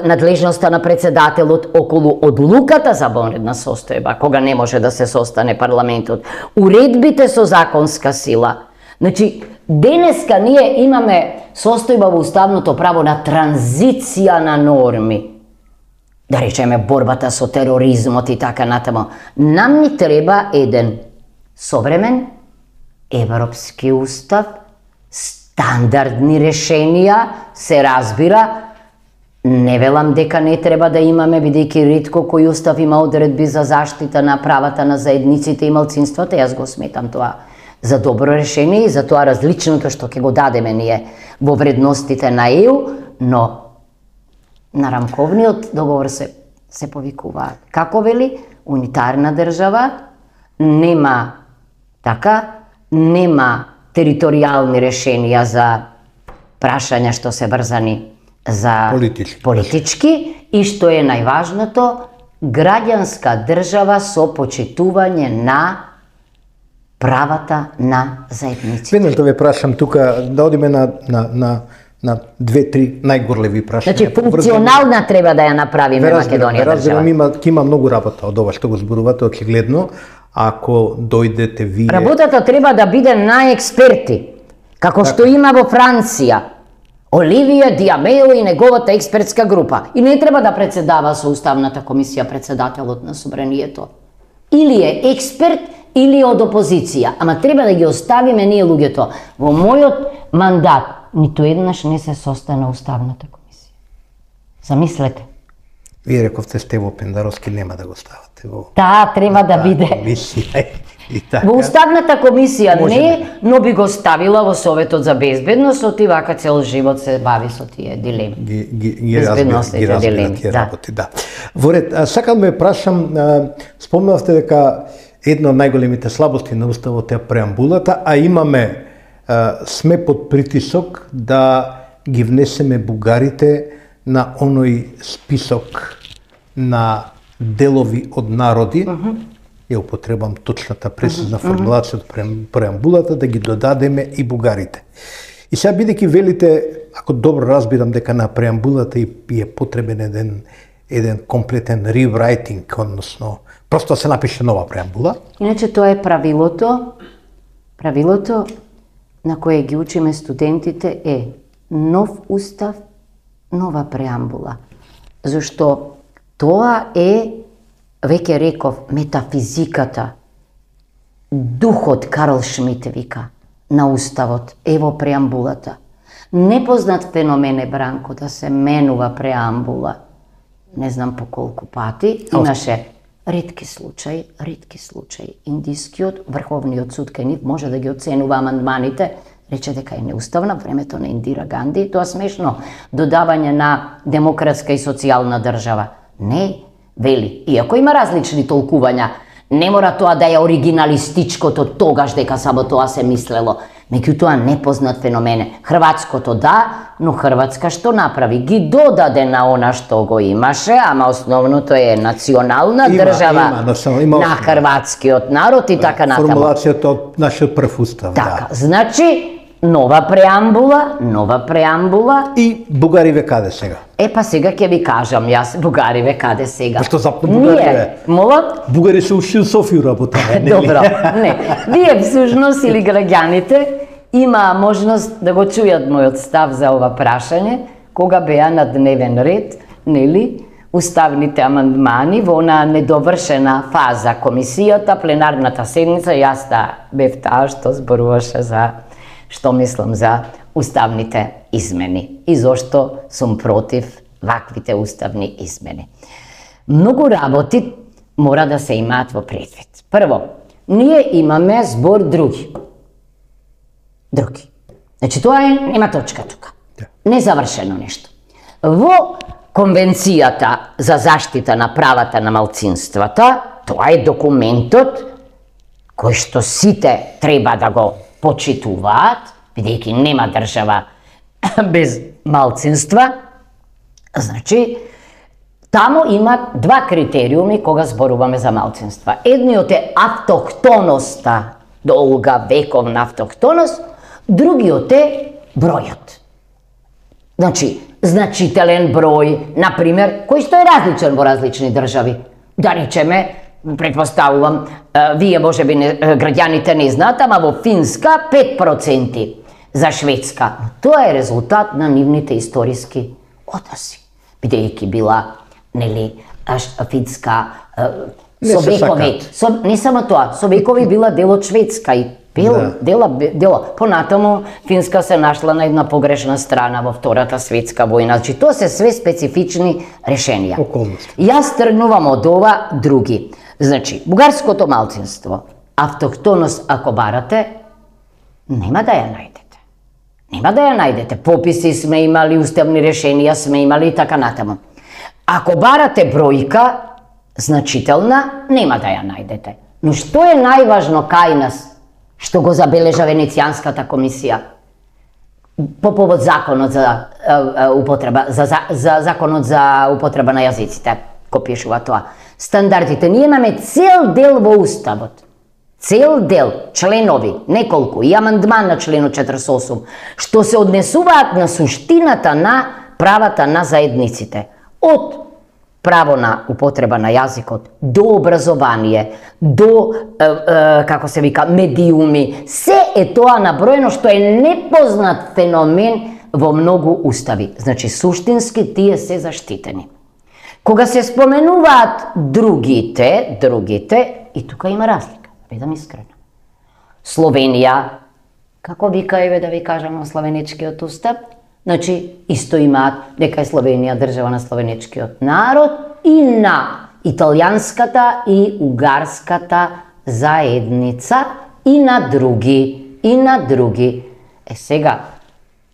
надлежноста на председателот околу одлуката за вонредна состојба, кога не може да се состане парламентот. Уредбите со законска сила. Значи, денеска ние имаме состојба во уставното право на транзиција на норми. Да речеме борбата со тероризмот и така натаму. Нам ни треба еден современ европски устав, стандардни решенија, се разбира. Не велам дека не треба да имаме, бидејќи ретко кој устав има одредби за заштита на правата на заедниците и малцинствата. Јас го сметам тоа за добро решение и за тоа различното што ќе го дадеме ние во вредностите на ЕУ, но на рамковниот договор се повикуваат. Како вели, унитарна држава, нема територијални решенија за прашања што се врзани за политички и што е најважното, граѓанска држава со почитување на правата на заедниците. Веднаш да ве прашам тука, да одиме на две-три најгорливи прашања. Значи, функционална треба да ја направиме Македонија држава. Има многу работа од ова што го зборувате, очигледно. Ако дојдете вие... Работата треба да биде на експерти, како што има во Франција. Оливија Диамео и неговата експертска група. И не треба да председава со Уставната комисија председателот на собранието. Или е експерт, или од опозиција. Ама треба да ги оставиме ние луѓето. Во мојот мандат ниту еднаш не се состана Уставната комисија. Замислете. Вие рековте Стево Пендаровски нема да го ставате во... Таа треба да биде. Во Уставната комисија не, но би го ставила во Советот за безбедност, оти вака цел живот се бави со тие дилеми. Ги разбира тие работи, да. Во ред, сакам ме прашам, спомнавте дека една од најголемите слабости на Уставот е преамбулата, а имаме, сме под притисок да ги внесеме бугарите на оној список на делови од народи, ја употребам точната прецизна формулација од преамбулата, да ги додадеме и бугарите. И сега бидејќи велите, ако добро разбирам дека на преамбулата и е потребен еден комплетен реврајтинг, односно просто се напише нова преамбула. Иначе тоа е правилото на кое ги учиме студентите е нов устав, нова преамбула. Зашто тоа е, веќе реков, метафизиката, духот, Карл Шмит вика, на уставот, ево преамбулата. Непознат феномен е, Бранко, да се менува преамбула. Не знам по колку пати. Имаше ретки случаи. Индискиот, Врховниот суд кај нив може да ги оценува амандманите, рече дека е неуставна времето на Индира Ганди, тоа смешно додавање на демократска и социјална држава. Не, вели, иако има различни толкувања, не мора тоа да е оригиналистичкото тогаш дека само тоа се мислело. Меѓутоа непознат феномен. Хрватското да, но Хрватска што направи? Ги додаде на она што го имаше, ама основното е национална држава на хрватскиот народ и така натаму. Формулацијата од нашиот прв устав. Така, значи нова преамбула и бугариве каде сега? Па сега ќе ви кажам јас бугариве каде сега. Што запно бугариве? Бугари се уши у Софија работа. Добро, не. Вие всушност или граѓаните има можност да го чујат мојот став за ова прашање, кога беа на дневен ред, нели, уставните амандмани во она недовршена фаза комисијата, пленарната седница, јас бев таа што зборуваше за што мислам за уставните измени и зошто сум против ваквите уставни измени. Многу работи мора да се имаат во предвид. Прво, ние имаме збор други. Значи тоа нема точка тука. Незавршено нешто. Во Конвенцијата за заштита на правата на малцинствата, тоа е документот кој што сите треба да го почитуваат, бидејќи нема држава без малцинства. Значи, Тамо има два критериуми кога зборуваме за малцинства. Едниот е автохтоноста, долга вековна автохтоност, другиот е бројот. Значи, значителен број, например, кој што е различен во различни држави. Да речеме, предпоставувам, вие можеби граѓаните не знаат, ама во Финска 5%, за Шведска. Тоа е резултат на нивните историски односи. Бидејќи била, нели, Финска со векови, не само тоа, со векови била дел од Шведска и дела. Понатаму Финска се нашла на една погрешна страна во Втората светска војна. Значи, тоа се све специфични решенија. Околности. Јас тргнувам од ова други. Значи, бугарското малцинство, автохтоност ако барате, нема да ја најдете. Нема да ја најдете. Пописи сме имали, уставни решенија сме имали и така натаму. Ако барате бројка, значителна, нема да ја најдете. Но што е најважно кај нас, што го забележа Венецијанската комисија по повод законот за употреба, за законот за употреба на јазиците, кој пишува тоа. Стандардите, ние имаме цел дел во уставот. Цел дел, членови, неколку, и амандман на членот 48, што се однесуваат на суштината на правата на заедниците. Од право на употреба на јазикот, до образование, до, како се вика, медиуми, се е тоа наброено што е непознат феномен во многу устави. Значи, суштински тие се заштитени. Кога се споменуваат другите, и тука има разлика, бидам искрена. Словенија, како вика, еве да ви кажам на словенечкиот устав, значи, исто имаат дека е Словенија држава на словенечкиот народ и на италијанската и угарската заедница и на други. Сега,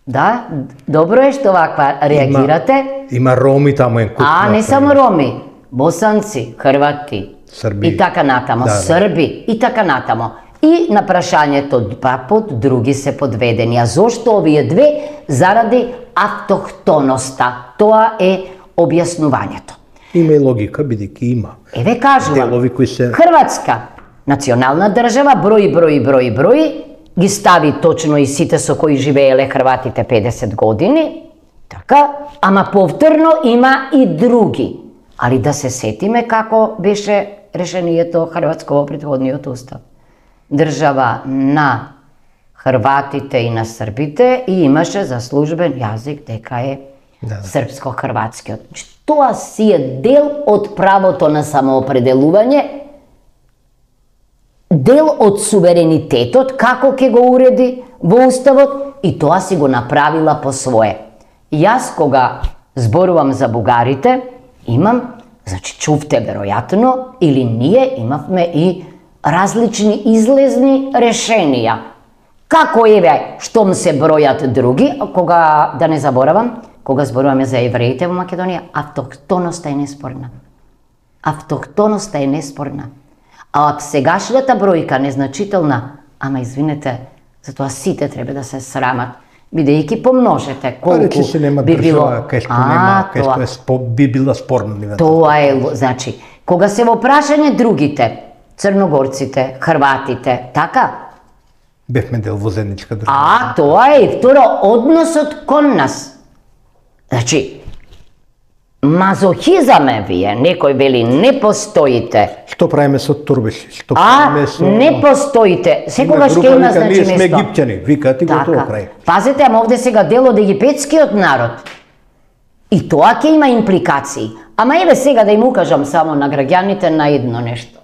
да, добро е што ваква реагирате. Има роми таму en куп. Не само роми, босанци, хрвати, Срби. И така натамо, срби, и така натамо. И на прашањето папот други се подведени. А зошто овие две? Заради автохтоноста. Тоа е објаснувањето. Има и логика, бидејќи има. Еве кажувам, делови кои се... Хрватска, национална држава, брои, ги стави точно и сите со кои живееле хрватите 50 години, така, ама повторно има и други. Али да се сетиме како беше решението хрватско во претходниот устав. Држава на хрватите и на србите и имаше за службен јазик дека е српско-хрватскиот. Тоа си е дел од правото на самоопределување, дел од суверенитетот, како ќе го уреди во уставот, и тоа си го направила по свое. Јас кога зборувам за бугарите, имам, значи чувте веројатно, или ние имавме и различни излезни решенија. Како еве, штом се бројат други, кога, да не заборавам, кога зборуваме за евреите во Македонија, автохтоноста е неспорна. Автохтоноста е неспорна. А сегашната бројка незначителна, ама извинете, затоа сите треба да се срамат, бидејќи помножете колку би било... Кај што би била спорна. Тоа е, значи, кога се во прашање другите, црногорците, хрватите, така? Бевме дел во заедничка држава. Тоа е и второ, односот кон нас. Значи, мазохизам е вие, некој вели не постоите. Што правиме со турбеши? Не постоите. Секогаш ќе има, значи, место. Ние сме египтјани, викате го тоа крај. Пазете, ама овде сега дел од египетскиот народ. И тоа ќе има импликации. Ама еве сега да им укажам само на граѓаните на едно нешто.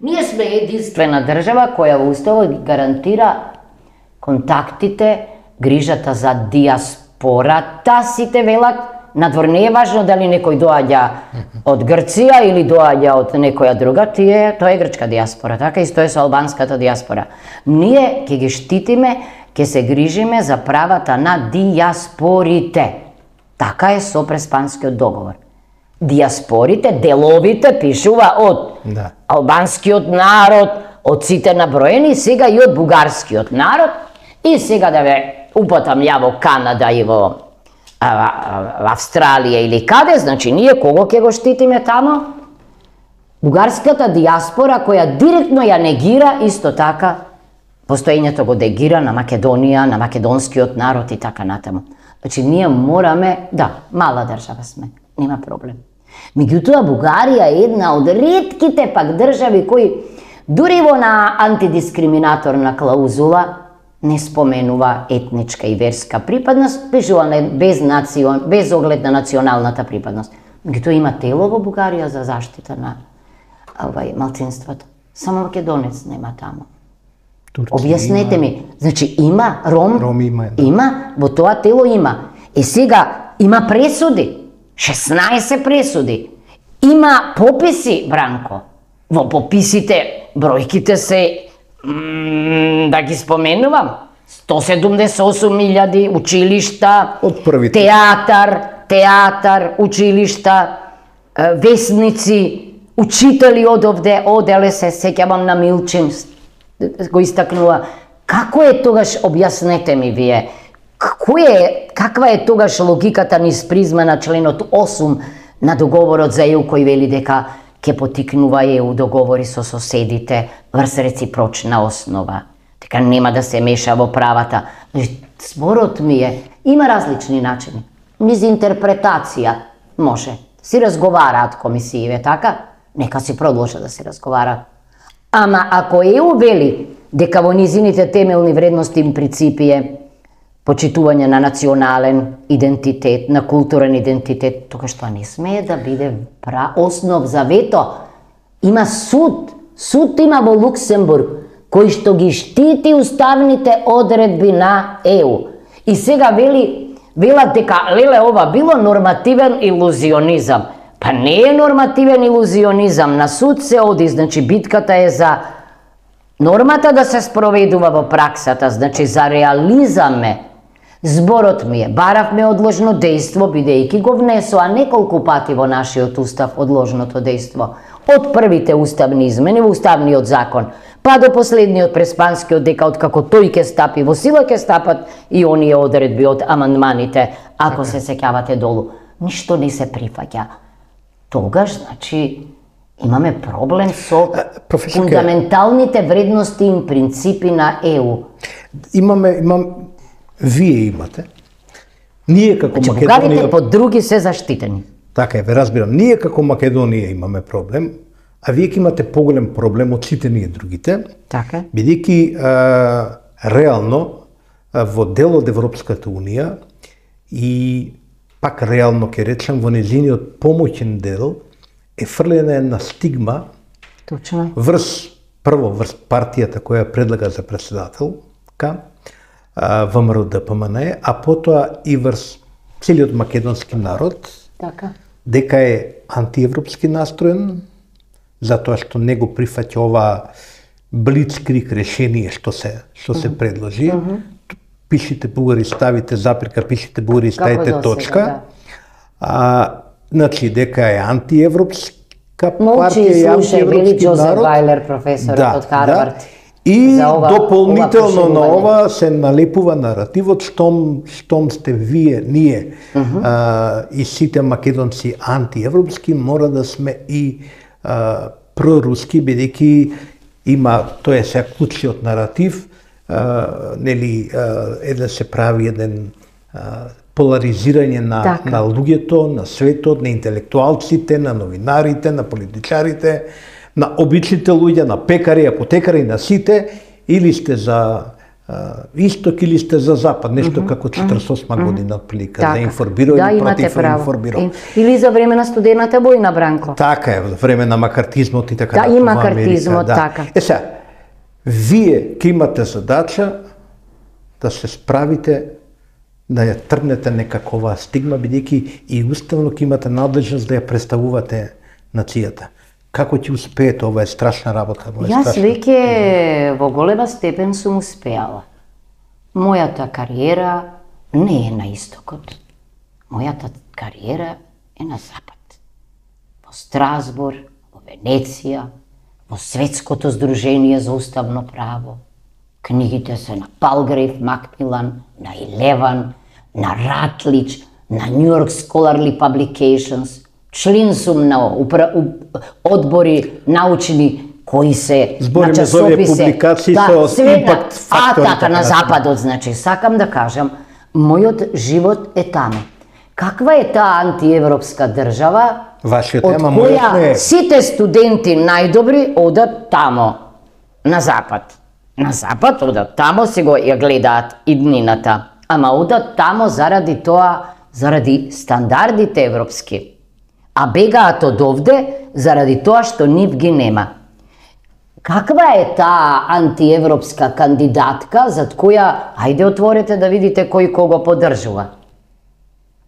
Ние сме единствена држава која во уставот гарантира контактите, грижата за диаспората, сите велат. Надвор не е важно дали некој доаѓа од Грција или доаѓа од некоја друга, тоа е грчка диаспора, така исто е со албанската диаспора. Ние ќе ги штитиме, ќе се грижиме за правата на диаспорите. Така е со Преспанскиот договор. Диаспорите, деловите, пишува од албанскиот народ, од сите наброени, сега и од бугарскиот народ, и сега да ве упатам ја во Канада и во Австралија или каде, значи ние кого ќе го штитиме тамо? Бугарската диаспора која директно ја негира исто така постоењето го дегира на Македонија, на македонскиот народ и така натаму. Значи ние мораме, да, мала држава сме, нема проблем. Меѓутоа Бугарија е една од ретките пак држави кои дури во на антидискриминаторна клаузула не споменува етничка и верска припадност, пишува без оглед на националната припадност. Меѓутоа има тело во Бугарија за заштита на малцинството. Само македонец нема таму. Објаснете ми, значи има Ром има, во тоа тело има. И сега има пресуди, 16 пресуди. Има пописи, Бранко. Во пописите бројките се да ги споменувам. 178.000 училишта, театар, училишта, весници, учители оделе се сеќавам на Милчин го истакнува. Како е тогаш, објаснете ми вие, каква е тогаш логиката низ призма на членот 8 на договорот за ЕУ кој вели дека ќе потикнува ЕУ договори со соседите врз реципрочна основа, дека нема да се меша во правата. Зборот ми е, има различни начини. Низ интерпретација може. Си разговараат комисиите, така? Нека си продолжат да се разговараат. Ама ако ЕУ вели дека во низините темелни вредности и принципи е почитување на национален идентитет, на културен идентитет, тогаш тоа не смее да биде основ за вето. Има суд има во Луксембург, кој што ги штити уставните одредби на ЕУ. И сега велат дека ова било нормативен илузионизам. Па не е нормативен илузионизам, на суд се оди, значи битката е за нормата да се спроведува во праксата, значи за реализам е. Зборот ми е, баравме одложно дејство, бидејќи го внесоа неколку пати во нашиот устав одложното дејство. Од првите уставни измени во уставниот закон, па до последниот преспанскиот дека откако тој ќе стапи во сила ќе стапат и оние одредби од амандманите, ако се сеќавате долу. Ништо не се прифаќа. Тогаш, значи, имаме проблем со фундаменталните вредности и принципи на ЕУ. Вие имате. Ние како Македонија... Бугарите по други се заштитени. Така е, ве разбирам. Ние како Македонија имаме проблем, а вие имате поголем проблем од сите ние другите. Така. Бидејќи реално во дел од Европската Унија и пак реално ќе речем во незиниот помоќен дел е фрлена една стигма. Точно. Врз партијата која предлага за председателка, ВМРО ДПМН, а потоа и врз целиот македонски народ, така, дека е антиевропски настроен, затоа што не го прифаќа ова блицкриг решение што се предложи. Пишите бугари, ставите запирка, пишите бугари, ставите точка. Значи, дека е антиевропска партија и антиевропски народ. Вајлер, професорот од Харвард. И дополнително на ова се налепува наративот штом сте вие, ние и сите македонци антиевропски, мора да сме и проруски, бидејќи има, тоа е сега клучниот наратив, нели да се прави еден поларизирање на луѓето, на светот, на интелектуалците, на новинарите, на политичарите, на обичните луѓе, на пекари, апотекари, на сите, или сте за исток или сте за запад, нешто како 48 година отприлика, за информирање против информирање. Или за време на студената војна, Бранко. Така е, време на макартизмот и така натаму. Да, и макартизмот, така. Сега, вие ќе имате задача да се справите да ја тргнете некакова стигма, бидејќи и уставно ќе имате надлежност да ја представувате нацијата. Како ќе успеете? Ова е страшна работа. Јас веќе во голема степен сум успеала. Мојата кариера не е на истокот. Мојата кариера е на запад. Во Страсбург, во Венеција, во Светското здружение за уставно право. Книгите се на Палгрейв, Макмилан, на Илеван, на Ратлич, на New York Scholarly Publications, член сум на одбори научни кои се збориме за овие публикации со импакт фактор. Така на западот, значи сакам да кажам, мојот живот е таму. Каква е таа антиевропска држава? Вашиот од тема, која мојот не е. сите студенти најдобри одат тамо на запад. На запад одат тамо, си го ја гледаат иднината, ама одат тамо заради тоа, заради стандардите европски. А бегаат од овде заради тоа што нив ги нема. Каква е таа антиевропска кандидатка зад која, ајде отворете да видите кој кого поддржува?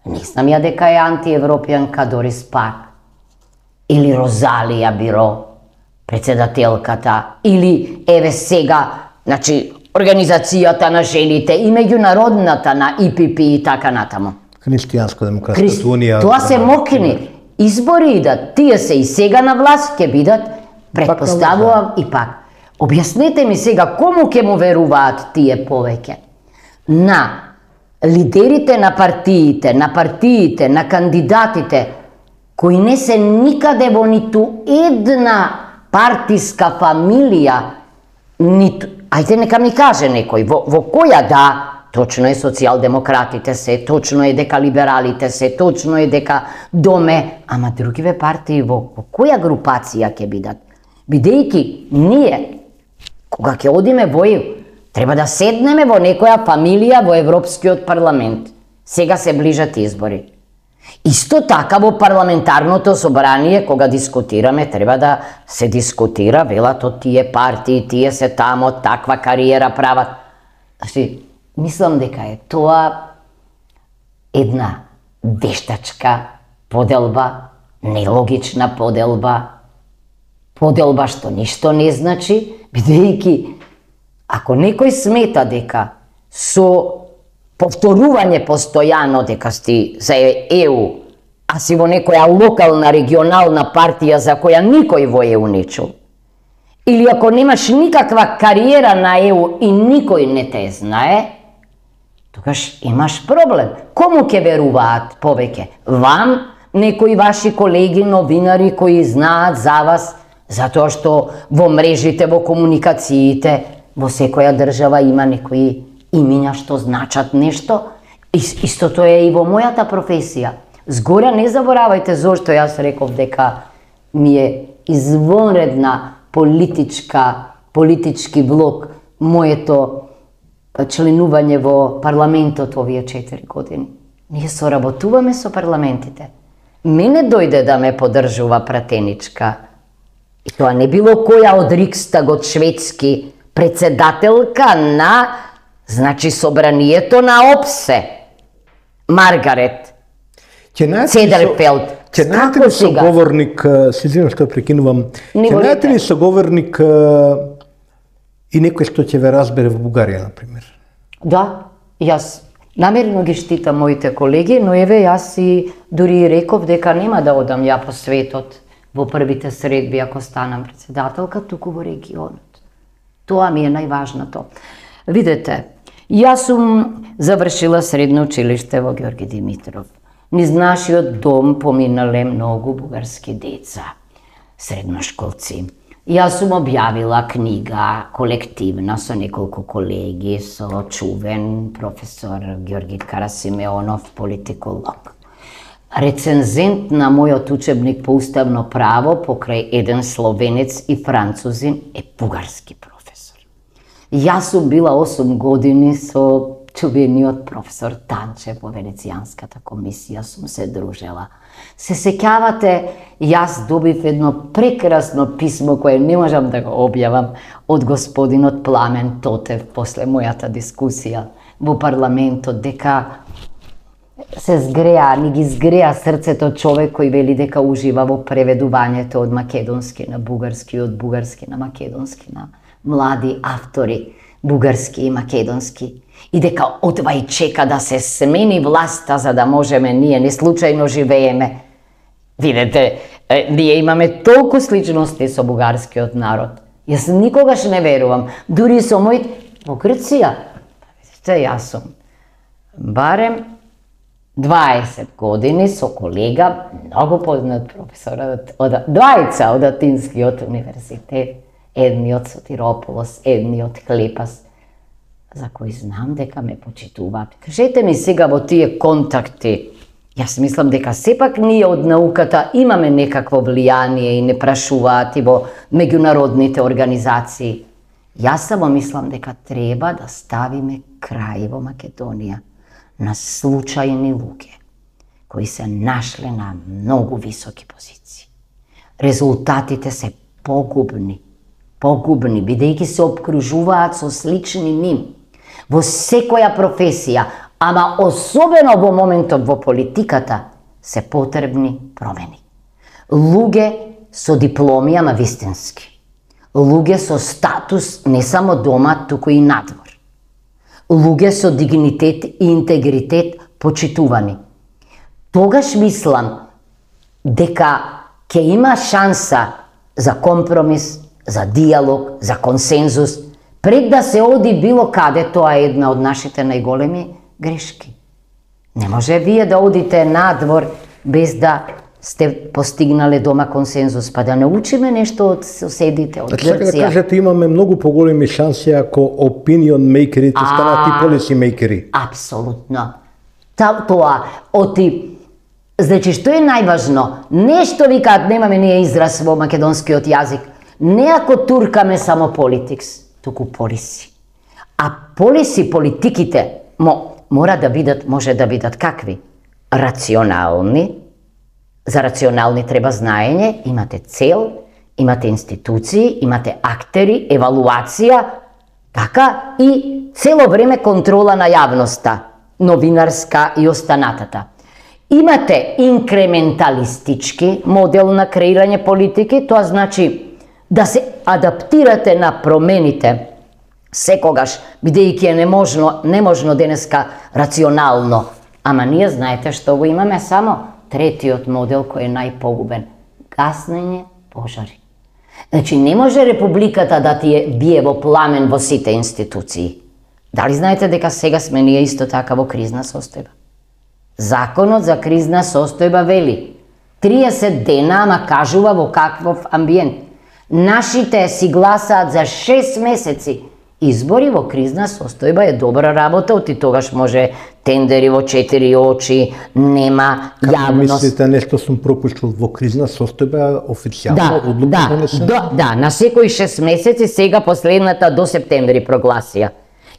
Не знам ја дека е антиевропјанка Дорис Пак, или Розалија Биро, председателката, или еве сега, значи, Организацијата на жените и меѓународната на ИПП и така натаму. Христијанско-демократската унија. Тоа се мокини. Избори идат, тие се и сега на власт ќе бидат, предпоставувам и пак. Објаснете ми сега кому ќе му веруваат тие повеќе? На лидерите на партиите, на кандидатите, кои не се никаде во ниту една партиска фамилија, ниту, ајде нека ми каже некој, во која да, точно е социјалдемократите се, точно е дека либералите се, точно е дека Доме, ама другиве партии во која групација ќе бидат? Бидејќи ние, кога ќе одиме во ЕУ, треба да седнеме во некоја фамилија во Европскиот парламент. Сега се ближат избори. Исто така во парламентарното собрание, кога дискутираме, треба да се дискутира, велат од тие партии, тие се тамо, таква кариера прават. Значи, мислам дека е тоа една вештачка поделба, нелогична поделба што ништо не значи, бидејќи ако некој смета дека со повторување постојано дека сти за ЕУ, а си во некоја локална, регионална партија за која никој во ЕУ не чул, или ако немаш никаква кариера на ЕУ и никој не те знае, тогаш имаш проблем. Кому ќе веруваат повеќе? Вам, некои ваши колеги новинари кои знаат за вас, затоа што во мрежите, во комуникациите, во секоја држава има некои имиња што значат нешто. Истото е и во мојата професија. Згора не заборавајте зошто јас реков дека ми е извонредна политички влог моето членување во парламентот овие 4 години. Ние соработуваме со парламентите. Мене дојде да ме поддржува пратеничка. И тоа не било која од Рикстагот шведски, председателка на, значи, собранието на ОПСЕ, Маргарет Цедерфелд. Ќе најдете ли соговорник, се извинувам што прекинувам, ќе најдете ли соговорник и некој што ќе ве разбере во Бугарија, например? Да, јас намерно ги штитам моите колеги, но еве јас и дури реков дека нема да одам ја по светот во првите средби ако станам председателка, туку во регионот. Тоа ми е најважното. Видете, јас сум завршила средно училиште во Георги Димитров. Низ нашиот дом поминале многу бугарски деца, средношколци. Јас сум објавила книга колективна со неколку колеги, со чувен професор Георги Карасимеонов, политиколог. Рецензент на мојот учебник по уставно право покрај еден словенец и французин е бугарски професор. Јас сум била 8 години со чувениот професор Танчев во Венецијанската комисија, сум се дружела. Се сеќавате, јас добив едно прекрасно писмо кое не можам да го објавам од господинот Пламен Тотев после мојата дискусија во парламентот, дека се згреа, ни ги згреа срцето човек кој вели дека ужива во преведувањето од македонски на бугарски, од бугарски на македонски, на млади автори, бугарски и македонски. И дека одвај чека да се смени власта за да можеме ние, не случајно живееме. Видете, ние имаме толку сличности со бугарскиот народ. Јас никогаш не верувам, дури со мој во Грција. Видите, јас сум барем 20 години со колега, многу познат професор двајца од Атинскиот универзитет, едниот со Тирополос, едниот Клепас, за кои знам дека ме почитуваат. Кажете ми сега во тие контакти, јас мислам дека сепак ние од науката имаме некакво влијание и не прашуваат и во меѓународните организации. Јас само мислам дека треба да ставиме крај во Македонија на случајни луѓе кои се нашле на многу високи позиции. Резултатите се погубни, бидејќи се обкружуваат со слични ним во секоја професија, ама особено во моментот во политиката се потребни промени. Луѓе со дипломи, ама вистински. Луѓе со статус не само дома, туку и надвор. Луѓе со дигнитет и интегритет почитувани. Тогаш мислам дека ќе има шанса за компромис, за диалог, за консензус, пред да се оди било каде. Тоа е една од нашите најголеми грешки. Не може вие да одите надвор без да сте постигнале дома консензус, па да научиме нешто од соседите, од Грција. Така да кажете, имаме многу поголеми шанси ако opinion makeri станат и policy makeri. Апсолутно. Тоа, значи, што е најважно? Нешто викаат, немаме ние израз во македонскиот јазик, не ако туркаме само политикс, туку полиси. А полиси, политиките, мора да бидат, може да бидат какви? Рационални. За рационални треба знаење, имате цел, имате институции, имате актери, евалуација, така и цело време контрола на јавноста, новинарска и останатата. Имате инкременталистички модел на креирање политики, тоа значи да се адаптирате на промените секогаш, бидејќи е неможно денеска рационално. Ама ние знаете што го имаме само третиот модел кој е најпогубен. Гаснење пожари. Значи не може републиката да ти бие во пламен во сите институции. Дали знаете дека сега сме ние исто така во кризна состојба? Законот за кризна состојба вели 30 дена, ама кажува во каквов амбиент. Нашите си гласаат за 6 месеци. Избори во кризна состојба е добра работа, оти тогаш може тендери во 4 очи, нема јавност. Како мислите, нешто сум пропуштил во кризна состојба официјално одлука донесена? Да, на секои 6 месеци, сега последната до септември прогласија.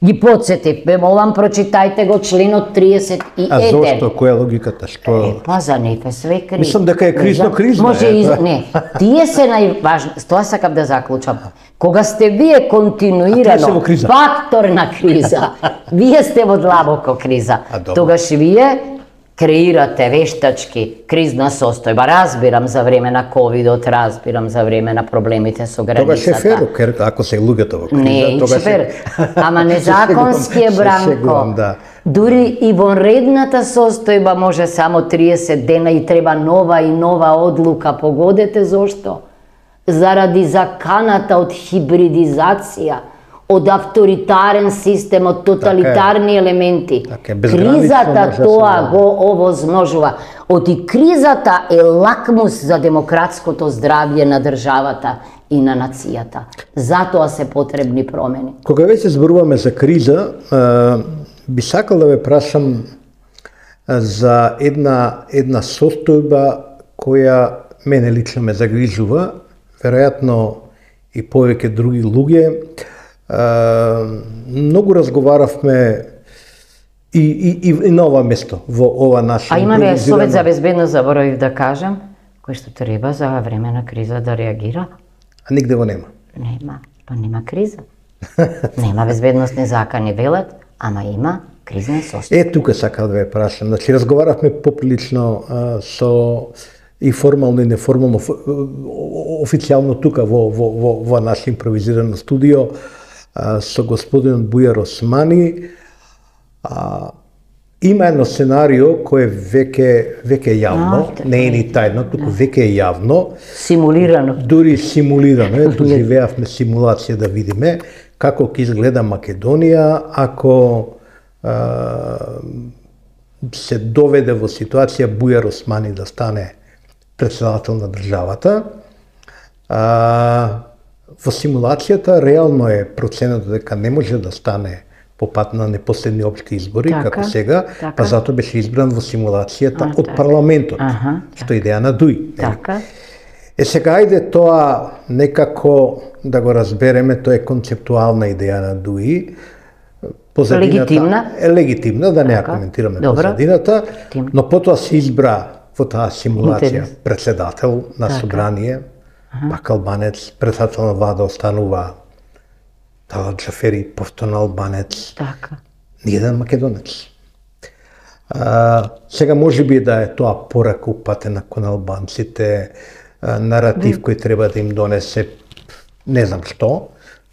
Ги подсетив, ве молам, прочитајте го членот 31. А зошто? Која е логиката? Што? Па за нив е све криза. Мислам дека е кризна. Може не, тие се најважни, тоа сакам да заклучам. Кога сте вие континуирано фактор на криза, вие сте во длабоко криза, тогаш вие креирате вештачки кризна состојба. Разбирам за време на ковидот, разбирам за време на проблемите со границата. Тогаш е фер, ако се луѓето во криза. Не, фер, ама незаконски е, Бранко. Дури и во редната состојба може само 30 дена и треба нова одлука. Погодете зошто? Заради заканата од хибридизација, од авторитарен систем, од тоталитарни елементи. Кризата тоа го овозможува. Оти кризата е лакмус за демократското здравје на државата и на нацијата. Затоа се потребни промени. Кога веќе зборуваме за криза, би сакал да ве прашам за една состојба која мене лично ме загрижува, веројатно и повеќе други луѓе. Многу разговаравме и на ова место, во ова наше... А имаме Совет за безбедност, заборавив да кажам, кој што треба за време на криза да реагира. А нигде го нема? Нема, па нема криза. Нема безбедностни закани велат, ама има кризна состојба. Тука сакам да ве прашам. Значи, разговаравме поприлично со и формално и неформално, официјално тука во наше импровизирано студио со господин Бујар Османи. Има едно сценарио кое веќе е јавно, не е ни тајно, туку веќе е јавно. Симулирано. Дури симулирано, доживеавме симулација да видиме како ќе изгледа Македонија ако се доведе во ситуација Бујар Османи да стане председател на државата. Во симулацијата реално е проценето дека не може да стане по пат на непоследни општи избори, како сега, па затоа беше избран во симулацијата од парламентот, што е идеја на Дуи. Сега ајде тоа некако да го разбереме, тоа е концептуална идеја на Дуи. Легитимна? Легитимна, да не ја коментираме позадината, но потоа се избра во таа симулација председател на собрание, пак албанец, председател на влада останува Талат Джафери, повторно албанец, ниеден македонец. Сега може би да е тоа порака упатена кон албанците, наратив кој треба да им донесе, не знам што,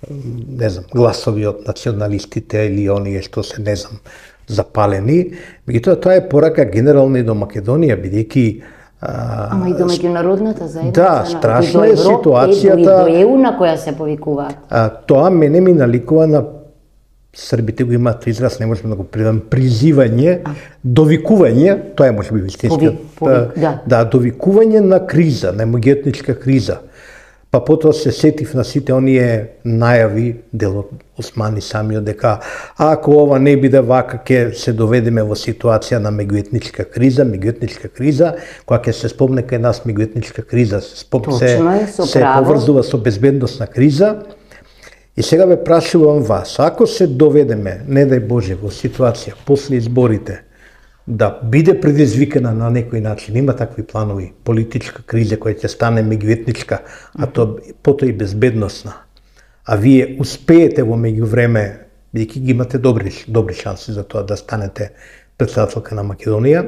не знам, гласови од националистите или оние што се, не знам, запалени. Меѓутоа, тоа е порака генерално и до Македонија, бидејќи ама и до меѓународната заедница. Да, страшна е ситуацијата. И до ЕУ на која се повикуваат. Тоа мене ми наликува на србите го имаат израз, не можеме да го преведам, призивање, довикување, тоа е можеби вистинскиот. Да, довикување на криза, на меѓуетничка криза. Па потоа се сетив на сите оние најави, дел од Османи самиот, дека ако ова не биде вака, ќе се доведеме во ситуација на меѓуетничка криза, која ќе се спомне кај нас меѓуетничка криза, се поврзува со безбедносна криза. И сега ве прашувам вас, ако се доведеме, не дај Боже, во ситуација после изборите, да биде предизвикана на некој начин, има такви планови, политичка криза која ќе стане меѓуетничка, а потоа и безбедносна, а вие успеете во меѓувреме, бидејќи ги имате добри шанси за тоа да станете председателка на Македонија,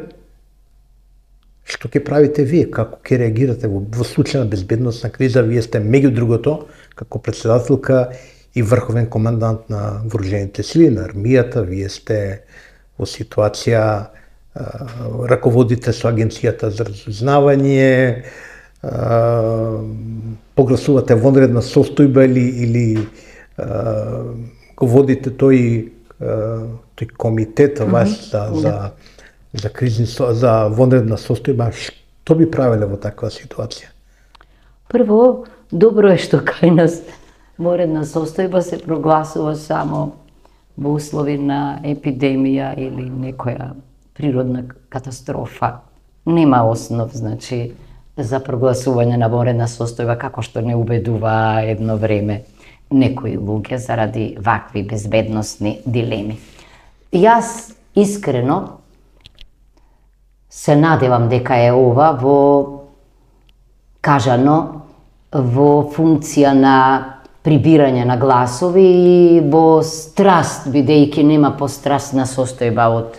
што ќе правите вие, како ќе реагирате во случај на безбедносна криза? Вие сте меѓу другото, како председателка и врховен командант на вооружените сили, на армијата, вие сте во ситуација, раководите со Агенцијата за разузнавање, погласувате вонредна состојба или го водите тој комитет за вонредна состојба. Што би правеле во таква ситуација? Прво, добро е што кај нас вонредна состојба се прогласува само во услови на епидемија или некоја природна катастрофа. Нема основ, значи, за прогласување на вонредна состојба, како што не убедува едно време некои луѓе заради вакви безбедносни дилеми. Јас искрено се надевам дека е ова кажано во функција на прибирање на гласови и во страст, бидејќи нема пострастна состојба од,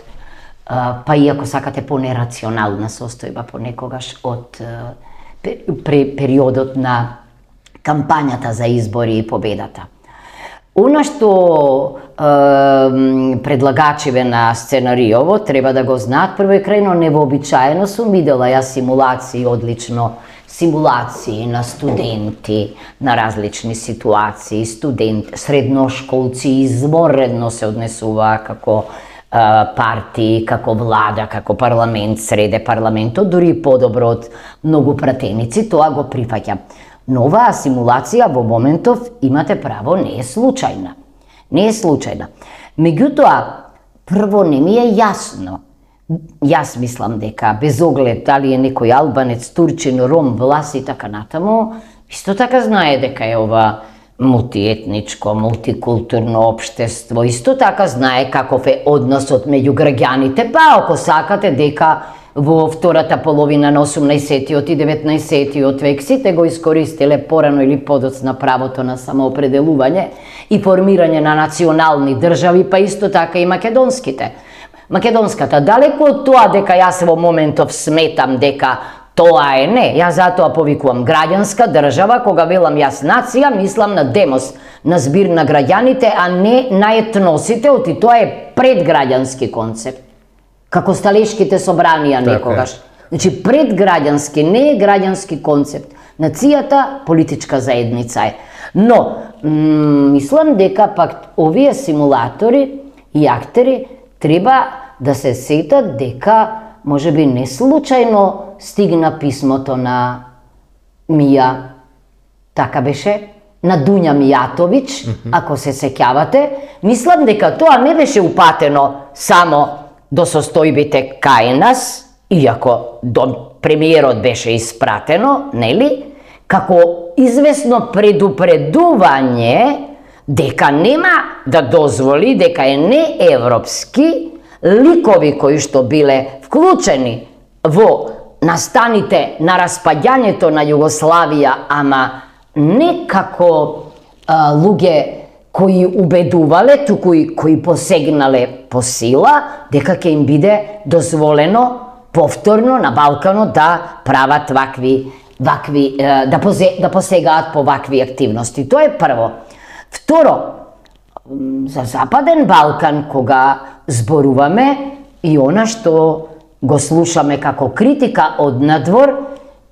па и ако сакате понерационална состојба понекогаш од периодот на кампањата за избори и победата. Она што предлагачиве на сценариово треба да го знаат, прво е крајно невообичаено, сум видела ја симулации одлично, симулации на студенти на различни ситуации, средношколци изворедно се однесуваа како партии, како влада, како парламент, среде парламентот, дури подобро од многу пратеници, тоа го прифаќам. Но оваа симулација во моментов, имате право, не е случајна. Не е случајна. Меѓутоа, прво не ми е јасно. Јас мислам дека без оглед дали е некој албанец, турчин, ром, влас и така натаму, исто така знае дека е ова мултиетничко, мултикултурно општество, исто така знае каков е односот меѓу граѓаните, па ако сакате дека во втората половина на 18-тиот и 19-тиот век сите го искористиле порано или подоцна правото на самоопределување и формирање на национални држави, па исто така и македонските. Македонската, далеку од тоа дека јас во моментов сметам дека тоа е не, јас затоа повикувам граѓанска држава, кога велам јас нација, мислам на демос, на збир на граѓаните, а не на етносите, оти тоа е предграѓански концепт. Како сталешките собранија некогаш. Значи, предграѓански, не е граѓански концепт. Нацијата политичка заедница е. Но, мислам дека пак овие симулатори и актери треба да се сетат дека можеби не случајно стигна писмото на Мија, така беше, на Дуња Мијатовиќ, ако се сеќавате. Мислам дека тоа не беше упатено само до состојбите кај нас, иако до премиерот беше испратено, нели, како известно предупредување дека нема да дозволи, дека е неевропски ликови кои што биле вклучени во настаните на распаѓањето на Југославија, ама не како луѓе кои убедувале, туку и кои посегнале по сила, дека ќе им биде дозволено повторно на Балканот да прават да посегаат по вакви активности. Тоа е прво. Второ, за Западен Балкан, кога зборуваме, и она што го слушаме како критика од надвор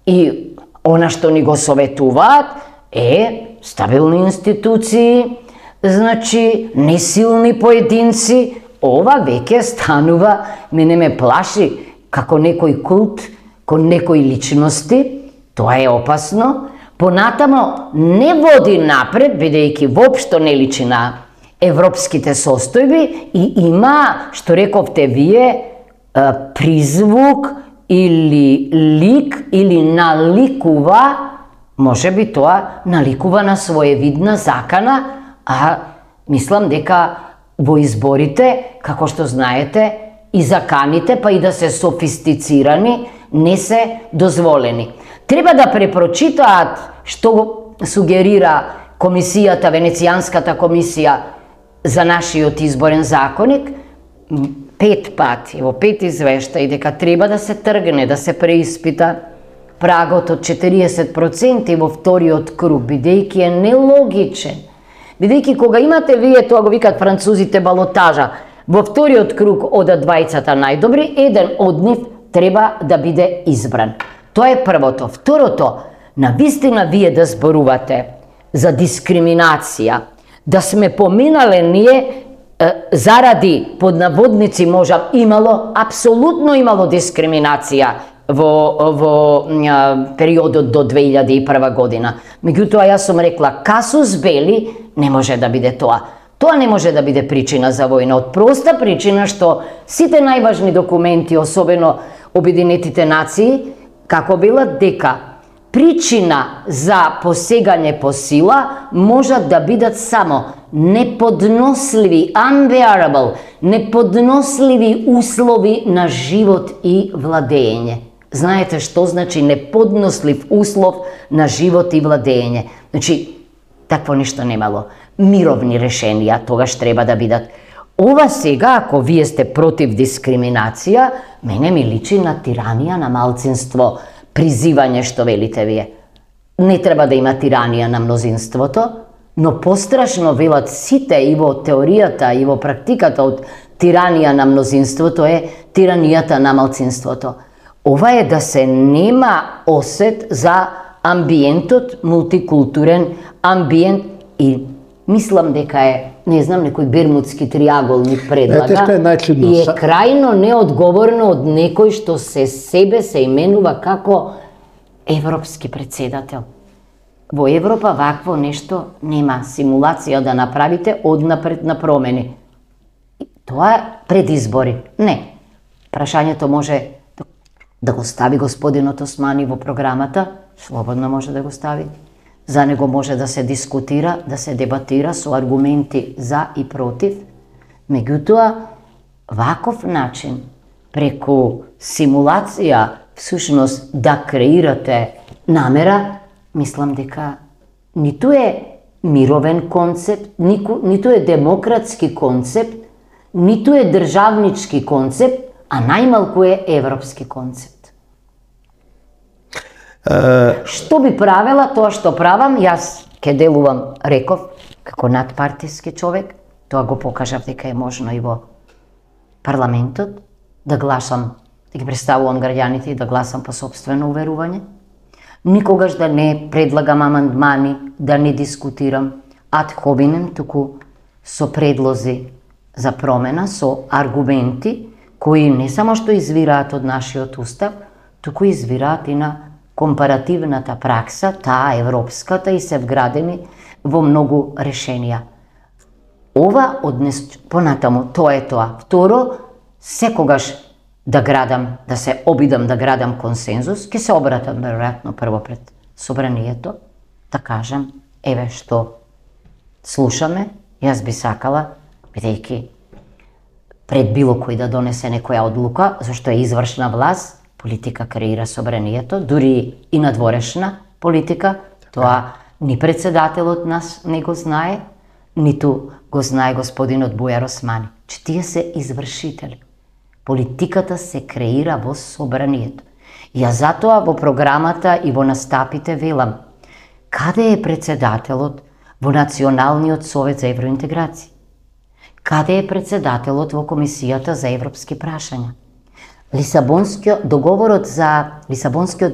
и она што ни го советуваат е стабилни институции, значи несилни поединци. Ова веќе станува, мене ме плаши, како некој култ, кон некои личности. Тоа е опасно. Понатамо не води напред, бидејќи воопшто не личи на европските состојби и има, што рековте вие, призвук или лик, или наликува, можеби тоа наликува на своевидна закана, а мислам дека во изборите, како што знаете, и заканите, па и да се софистицирани, не се дозволени. Треба да препрочитаат што сугерира комисијата, Венецијанската комисија за нашиот изборен законник, 5 пати, во 5 извештаи, дека треба да се тргне, да се преиспита прагот од 40% во вториот круг, бидејќи е нелогичен. Бидејќи кога имате вие, тоа го викат французите, балотажа, во вториот круг одат двајцата најдобри, еден од нив треба да биде избран. Тоа е првото. Второто, навистина вие да зборувате за дискриминација, да сме поминале ние заради, под наводници можам, апсолутно имало дискриминација во периодот до 2001 година. Меѓутоа, јас сум рекла, касус бели не може да биде тоа. Тоа не може да биде причина за војна, од проста причина што сите најважни документи, особено Обединетите нации, како велат дека причина за посегање по сила можат да бидат само неподносливи, unbearable, неподносливи услови на живот и владење. Знаете што значи неподнослив услов на живот и владење? Значи, такво ништо немало. Мировни решенија тогаш треба да бидат. Ова сега, ако вие сте против дискриминација, мене ми личи на тиранија на малцинство, призивање што велите вие. Не треба да има тиранија на мнозинството, но пострашно велат сите и во теоријата и во практиката од тиранија на мнозинството е тиранијата на малцинството. Ова е да се нема осет за амбиентот, мултикултурен амбиент и мислам дека е, не знам, некој бермудски триаголник предлага и е крајно неодговорно од некој што себе се именува како европски председател. Во Европа вакво нешто нема, симулација да направите однапред на промени. Тоа е пред избори. Не. Прашањето може да го стави господинот Османи во програмата, слободно може да го стави. За него може да се дискутира, да се дебатира со аргументи за и против. Меѓутоа, ваков начин, преку симулација, всушност да креирате намера, мислам дека ниту е мировен концепт, ниту е демократски концепт, ниту е државнички концепт, а најмалку е европски концепт. Што би правела, тоа што правам, јас ке делувам, реков, како надпартиски човек, тоа го покажав дека е можно и во парламентот, да гласам, да ги представувам граѓаните и да гласам по сопствено уверување. Никогаш да не предлагам амандмани, да не дискутирам ад хобинем, туку со предлози за промена, со аргументи, кои не само што извираат од нашиот устав, туку извираат и на компаративната пракса, таа европската, и се вградени во многу решенија. Ова однес понатаму, тоа е тоа. Второ, секогаш да се обидам да градам консензус, ќе се обратам веројатно прво пред собранието, да кажам, еве што слушаме, јас би сакала, бидејќи пред било кој да донесе некоја одлука, зашто е извршна власт, политика креира собранието, дури и надворешна политика, тоа ни председателот нас не го знае, ниту го знае господинот Бујар Османи, че тие се извршители. Политиката се креира во собранието. Ја затоа во програмата и во настапите велам, каде е председателот во Националниот совет за евроинтеграција? Каде е председателот во Комисијата за европски прашања? Лисабонскиот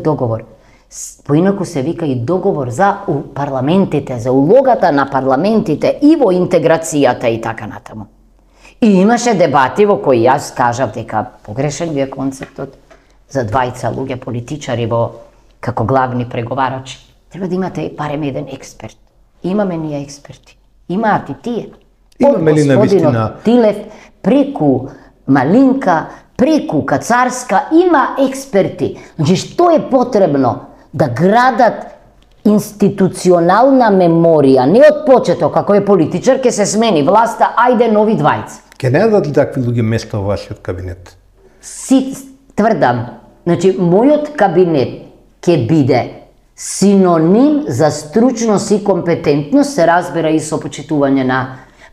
договор, поинаку се вика и договор за парламентите, за улогата на парламентите и во интеграцијата и така натаму. И имаше дебати во кои јас кажав дека погрешен ви е концептот за двајца луѓе политичари како главни преговарачи. Треба да имате барем еден експерт. Имаме ние експерти. Имаат и тие. Имаме ли навистина? Тилев, преку Малинка, преку Кацарска, има експерти. Значи, што е потребно? Да градат институционална меморија, не од почеток, како е политичар, ке се смени власта, ајде нови двајца. Ке не дадат ли такви луѓе место во вашиот кабинет? Си тврдам, значи, мојот кабинет ке биде синоним за стручност и компетентност, се разбира и со почитување на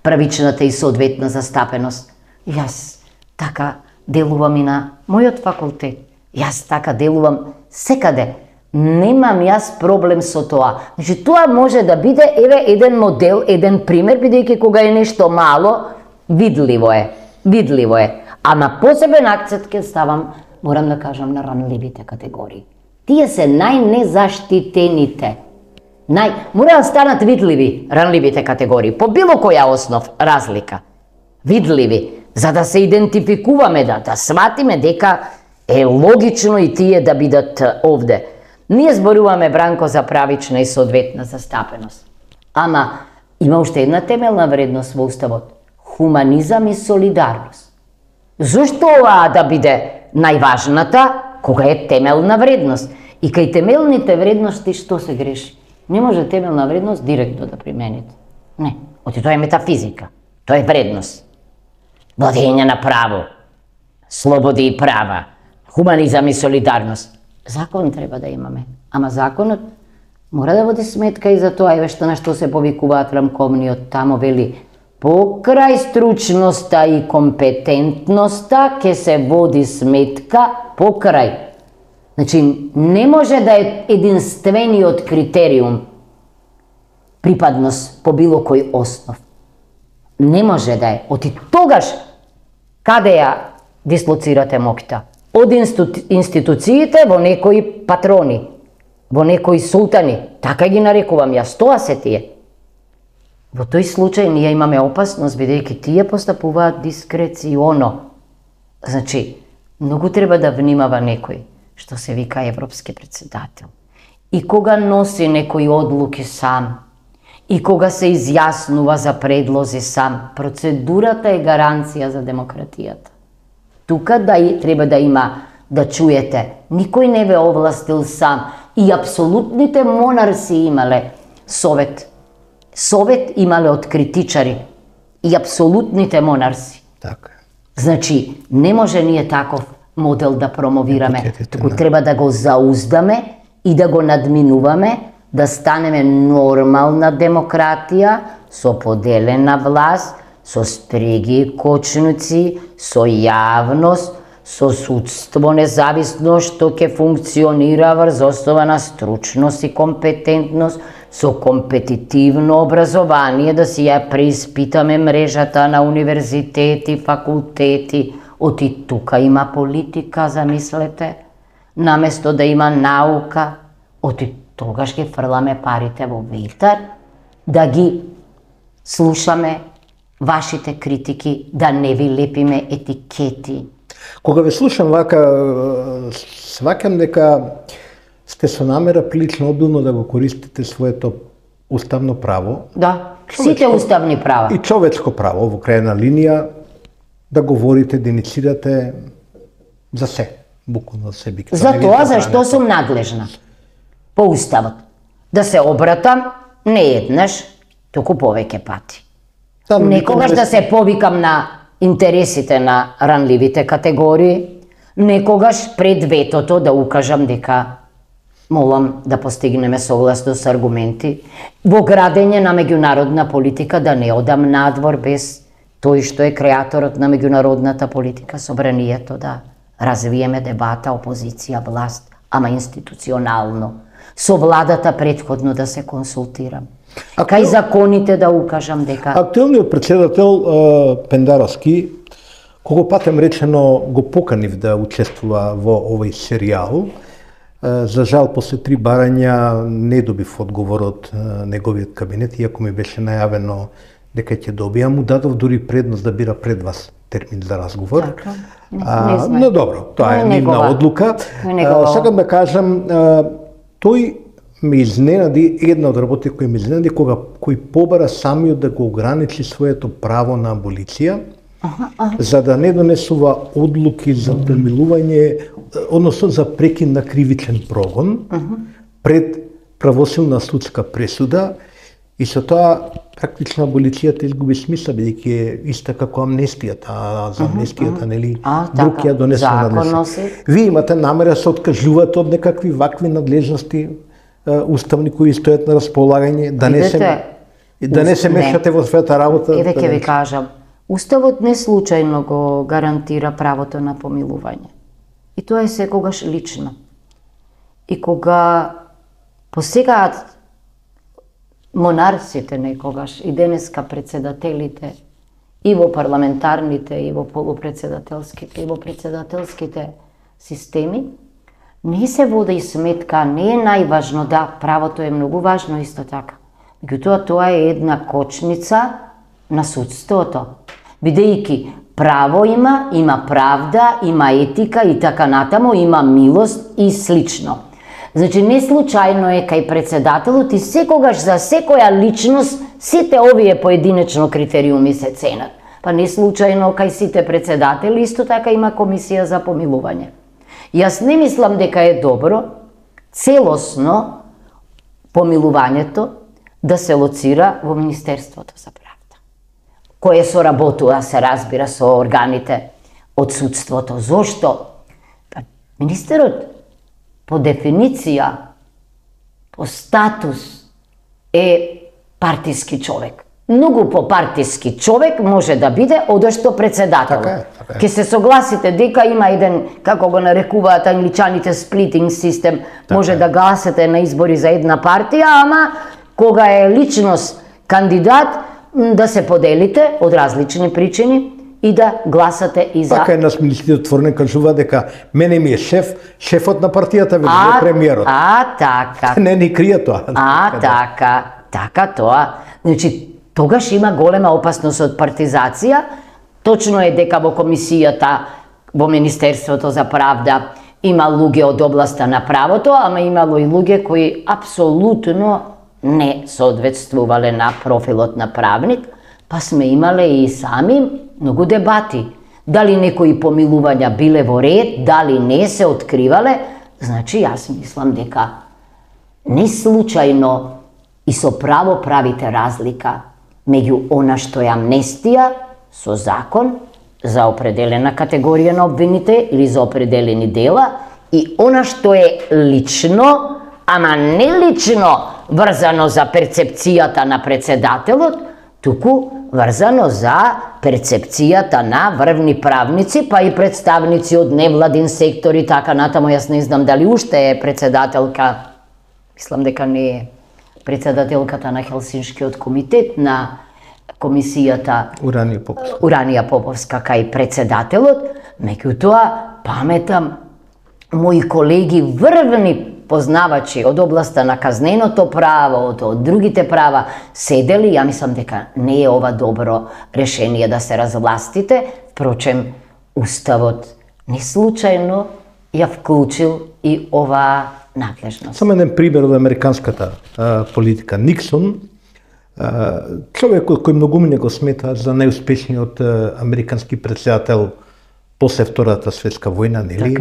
правичната и соодветна застапеност. Јас така делувам и на мојот факултет. Јас така делувам секаде. Немам јас проблем со тоа. Значи, тоа може да биде еден модел, еден пример, бидејќи кога е нешто мало, видливо е. Ама посебен акцент ке ставам, морам да кажам, на ранливите категории. Тие се најнезаштитените. Мора да станат видливи ранливите категории, по било која основ разлика. Видливи, за да се идентификуваме, да сватиме дека е логично и тие да бидат овде. Ние зборуваме, Бранко, за правична и соодветна застапеност. Ама има уште една темелна вредност во Уставот. Хуманизам и солидарност. Зошто оваа да биде најважната, кога е темелна вредност? И кај темелните вредности што се греши? Не може темелна вредност директно да примените. Не, тоа е метафизика, тоа е вредност. Владење на право, слободи и права, хуманизам и солидарност. Закон треба да имаме, ама законот мора да води сметка и за тоа, еве што на што се повикуваат рамковниот, тамо вели, покрај стручноста и компетентноста ке се води сметка покрај. Значи, не може да е единствениот критериум припадност по било кој основ. Не може да е. Оти тогаш, каде ја дислоцирате моќта? Од институциите во некои патрони, во некои султани, така ги нарекувам јас, тоа се тие. Во тој случај ние имаме опасност, бидејќи тие постапуваат дискреционо. Значи, многу треба да внимава некој, што се вика европски председател. И кога носи некои одлуки сам, и кога се изјаснува за предлози сам, процедурата е гаранција за демократијата. Тука треба да има, да чуете, никој не ве овластил сам. И апсолутните монарси имале совет. Совет имале од критичари. И апсолутните монарси. Така. Значи, не може ние таков модел да промовираме. Туку треба да го зауздаме и да го надминуваме, да станеме нормална демократија со поделена власт, со стриги кочници, со јавност, со судство независно што ќе функционира врз основа на стручност и компетентност, со компетитивно образование, да си ја преиспитаме мрежата на универзитети, факултети. Оти тука има политика, замислете, наместо да има наука, оти тогаш ги фрламе парите во ветар, да ги слушаме вашите критики, да не ви лепиме етикети. Кога ве слушам вака, сваќам дека сте со намера прилично обилно да го користите своето уставно право. Да, сите уставни права. И човечко право во крајна линија да говорите, да иницирате за се, буквално за се. За тоа зашто сум надлежна по уставот. Да се обратам не еднаш, туку повеќе пати. Некогаш да се повикам на интересите на ранливите категории, некогаш пред ветото да укажам дека молам да постигнеме согласно со аргументи, во градење на меѓународна политика да не одам надвор без тој што е креаторот на меѓународната политика, собранието, да развиеме дебата, опозиција, власт, ама институционално. Со владата претходно да се консултирам. Кај законите да укажам дека... Актуелниот председател Пендаровски, кога патем речено го поканив да учествува во овој серијал, за жал, после 3 барања не добив одговор од неговиот кабинет, иако ми беше најавено дека ќе добија, му дадов дури предност да бира пред вас термин за разговор. Така, не знам. Но добро, тоа е нивна одлука. Сакам да кажам, тој ме изненади, една од работите кои ме изненади, кој побара самиот да го ограничи своето право на аболиција, за да не донесува одлуки за премилување, односно за прекин на кривичен прогон пред правосилна судска пресуда, и со тоа практично аболицијата изгуби смисла, бидејќи е иста како амнестијата, а за амнестијата нели друг ја донесе на Вие имате намера да се откажувате од некакви вакви надлежности уставни кои стојат на располагање, да не се мешате во својата работа. Еве ќе ви кажам, уставот не случајно го гарантира правото на помилување. И тоа е секогаш лично. И кога посегаат монарсите некогаш и денеска председателите и во парламентарните, и во полупредседателските, и во председателските системи, не се води сметка, не е најважно, да, правото е многу важно исто така. Меѓутоа, тоа е една кочница на судството. Бидејќи право има правда, има етика и така натаму, има милост и слично. Значи, не случајно е кај председателот и секогаш за секоја личност сите овие поединечно критериуми се ценат. Па не случајно кај сите председатели исто така има комисија за помилување. Јас не мислам дека е добро целосно помилувањето да се лоцира во Министерството за правда, кое соработува, се разбира, со органите од судството. Зошто? Па, министерот по дефиниција, по статус е партиски човек. Многу попартиски човек може да биде одошто председател. Така е. Ке се согласите дека има еден, како го нарекуваат англичаните, сплитинг систем, може да гласате на избори за една партија, ама кога е личност кандидат, да се поделите од различни причини и да гласате и за... Така еднаш министерот отворено кажува дека мене ми е шефот на партијата, вели е премиерот. Така. Не ни крие тоа. Така тоа. Значи, тогаш има голема опасност од партизација. Точно е дека во комисијата, во Министерството за правда, има луѓе од областа на правото, ама имало и луѓе кои апсолутно не соодветствувале на профилот на правник, па сме имале и сами многу дебати. Дали некои помилувања биле во ред, дали не се откривале. Значи, јас мислам дека не случајно и со право правите разлика меѓу она што е амнестија со закон за определена категорија на обвините или за определени дела и она што е лично, ама не лично врзано за перцепцијата на председателот, туку врзано за перцепцијата на врвни правници, па и представници од невладин сектор и така натаму. Јас не знам дали уште е председателка, мислам дека не е, председателката на Хелсиншкиот комитет на комисијата Уранија Поповска кај председателот. Меѓутоа, паметам, мои колеги врвни познавачи од областа на казненото право, од другите права, седели, ја мислам дека не е ова добро решение да се развластите. Впрочем, Уставот не случајно ја вклучил и оваа надлежност. Само еден пример од американската политика. Никсон, човекот кој многумина го смета за најуспешниот американски претседател после Втората светска војна, нели?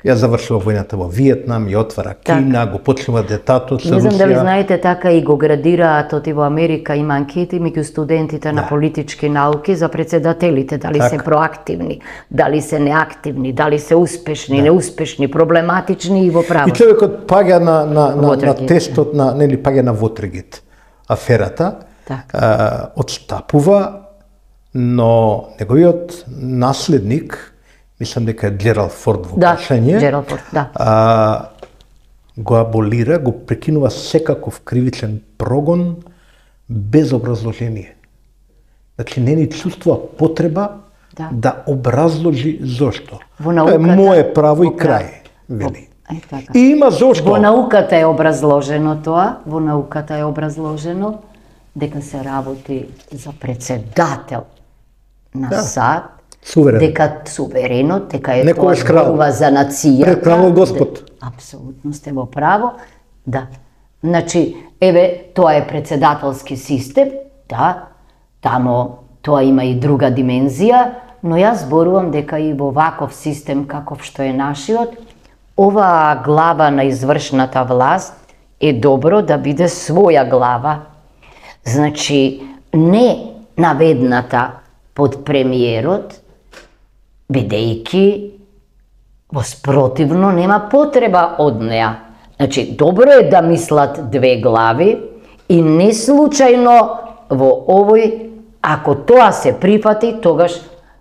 Ја завршува војната во Виетнам, ја отвара Кина, го почнува детатот со Русија. Не знам дали знаете, така и го градираат оти во Америка, има анкети меѓу студентите на политички науки за председателите, дали се проактивни, дали се неактивни, дали се успешни, неуспешни, проблематични и во право. И човекот паѓа на тестот на, нели, паѓа на Watergate аферата, отстапува, но неговиот наследник, мислам дека е Джералд Форд во прашање, Джералд Форд, го аболира, го прекинува секаков кривичен прогон без образложение. Значи не ни чувствува потреба да образложи зошто. Тоа е мое право и крај, вели. И има зошто. Во науката е образложено тоа, во науката е образложено дека се работи за председател на САД, дека суверенот, дека е тоа зборува за нацијата. Пред кралот Господ. Апсолутно сте во право. Да. Значи, еве, тоа е председателски систем, да, тамо тоа има и друга димензија, но јас зборувам дека и во ваков систем каков што е нашиот, оваа глава на извршната власт е добро да биде своја глава. Значи, не наведната под премиерот, бидејќи воспротивно нема потреба од неа. Значи, добро е да мислат две глави и не случајно во овој, ако тоа се прифати, тогаш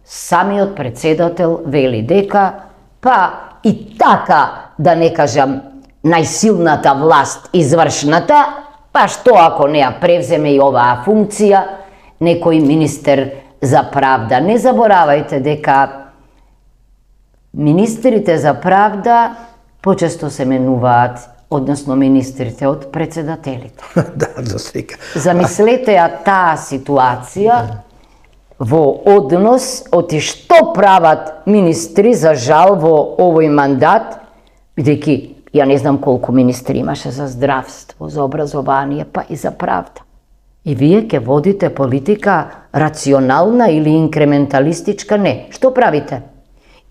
самиот председател вели дека, па и така, да не кажам, најсилната власт, извршната, па што ако не ја превземе и оваа функција, некој министер за правда. Не заборавајте дека министрите за правда почесто се менуваат, односно министрите од председателите. Да, за сега. Замислете ја таа ситуација во однос оти што прават министри, за жал, во овој мандат, бидејќи ја не знам колку министри имаше за здравство, за образование, па и за правда. И вие ќе водите политика рационална или инкременталистичка? Не. Што правите?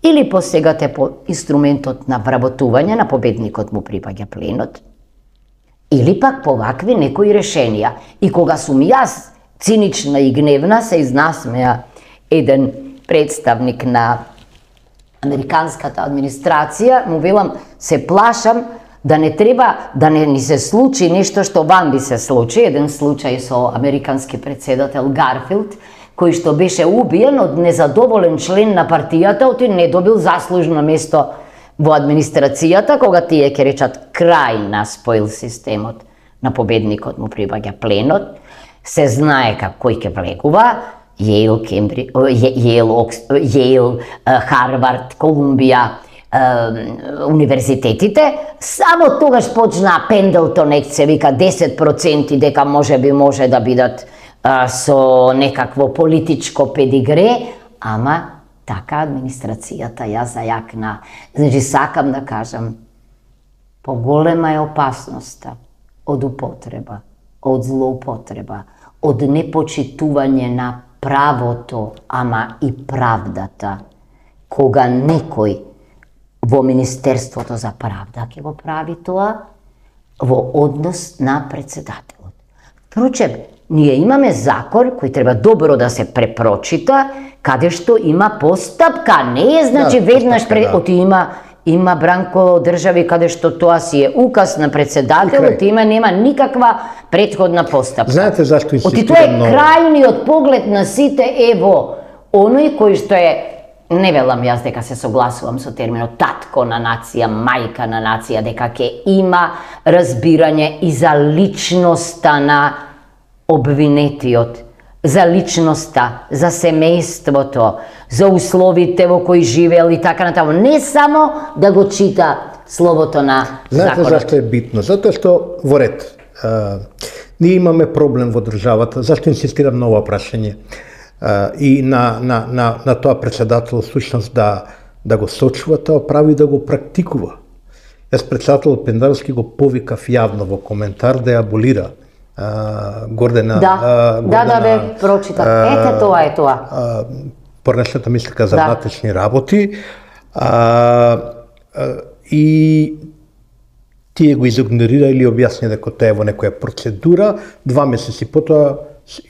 Или посегате по инструментот на вработување, на победникот му припаѓа пленот, или пак по вакви некои решенија. И кога сум јас цинична и гневна, се изнасмеа еден представник на американската администрација, му велам, се плашам да не треба да не ни се случи нешто што вам би се случи, еден случај со американски председател Гарфилд, кој што беше убиен од незадоволен член на партијата, оти не добил заслужено место во администрацијата, кога тие ќе речат крај на споил системот, на победникот му прибаѓа пленот, се знае кој ќе влегува, Јейл, Харвард, Колумбија, универзитетите, само тогаш почна Пендлтон, се вика 10% дека може да бидат со некакво политичко педигре, ама така администрацијата ја зајакна. Значи, сакам да кажам, поголема е опасноста од употреба, од злоупотреба, од непочитување на правото, ама и правдата, кога некој во Министерството за правда ќе го прави тоа во однос на председателот. Впрочем, ние имаме закон кој треба добро да се препрочита, каде што има постапка, не е значи веднаш оти има Бранко држави каде што тоа си е указ на председателот, нема никаква претходна постапка. Знаете зашто оти тоа е крајниот поглед на сите во оној кој што е, не велам јас дека се согласувам со терминот татко на нација, мајка на нација, дека ќе има разбирање и за личноста на обвинетиот, за личноста, за семејството, за условите во кои живеел и така натаму. Не само да го чита словото на законот. Знаете зашто е битно? Затоа што во ред. Ние имаме проблем во државата. Зашто инсистирам на ова прашање? И на тоа председател, сушност да го сочува тоа право и да го практикува. Јас председател Пендаровски го повикав јавно во коментар да ја аболира Гордена. Да, бе, прочитав. Ете тоа е тоа. Порнешната мислика за внатрешни работи. И тие го изигнорира или објасни дека тоа е во некоја процедура, 2 месеци потоа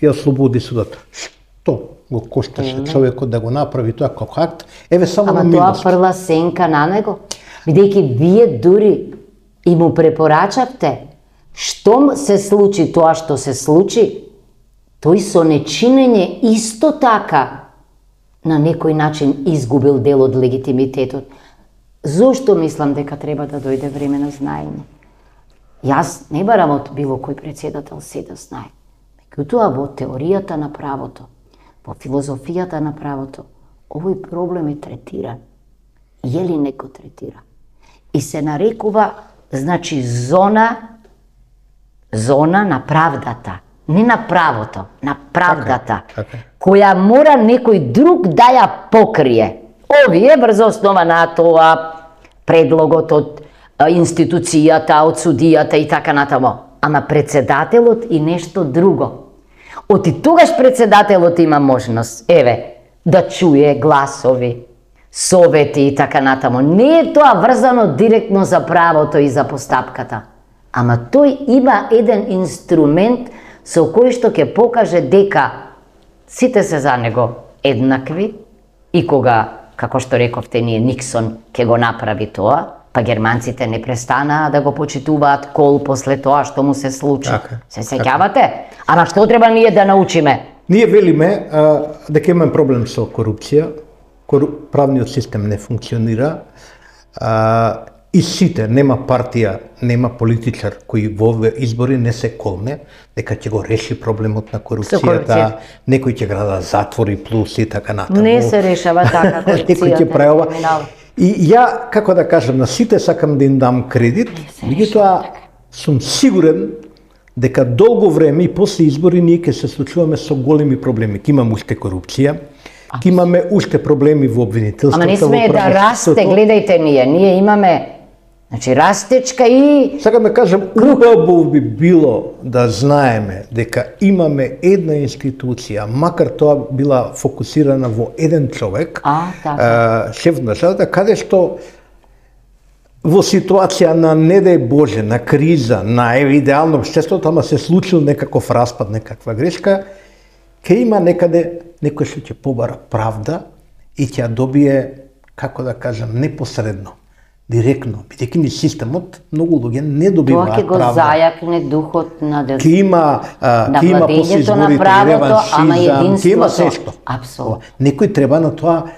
ја ослободи судот. Што го кошташе човекот да го направи тоа како акт? Еве само на милост. Ама тоа прва сенка на него, бидејќи вие дури и му препорачавте, штом се случи тоа што се случи, тој со нечинење исто така на некој начин изгубил дел од легитимитетот. Зошто мислам дека треба да дојде време на знаење? Јас не барам од било кој председател се да знае. Меѓутоа во теоријата на правото, во филозофијата на правото, овој проблем е третиран. Јелинек го третира. И се нарекува, значи, зона на правдата. Не на правото, на правдата. Која мора некој друг да ја покрие. Овие врз основа на тоа предлогот од институцијата, од судијата и така натаму. Ама председателот и нешто друго. Оти тогаш председателот има можност, да чуе гласови, совети и така натаму. Не е тоа врзано директно за правото и за постапката. Ама тој има еден инструмент со кој што ќе покаже дека сите се за него еднакви и кога, како што рековте ние, Никсон ќе го направи тоа, па германците не престанаа да го почитуваат Кол после тоа што му се случи. Се сеќавате? Ама што треба ние да научиме? Ние велиме дека имаме проблем со корупција, правниот систем не функционира, и сите, нема партија, нема политичар кој во овие избори не се колне дека ќе го реши проблемот на корупцијата, некој ќе града затвори плюс и така натаму. Не се решава така корупцијата. Некој ќе правува. И ја, како да кажам, на сите сакам да им дам кредит, меѓутоа сум сигурен дека долго време и после избори ние ќе се случуваме со големи проблеми. Ќе имаме уште корупција, ќе имаме уште проблеми во обвинителството. Ама не сме да расте, гледајте ние имаме, значи, растечка и... Сакам да кажам, убаво би било да знаеме дека имаме една институција, макар тоа била фокусирана во еден човек, шеф на државата, каде што во ситуација на, не дај Боже, на криза, на идеално општеството, ама се случил некаков распад, некаква грешка, ќе има некаде некој што ќе побара правда и ќе ја добие, како да кажам, непосредно, директно, бидејќи ни системот многу луѓе не добиваат правда. Тоа ќе го зајакне духот на Ќе има после изборите реваншизам, ќе има се што. Апсолутно. Некој треба на тоа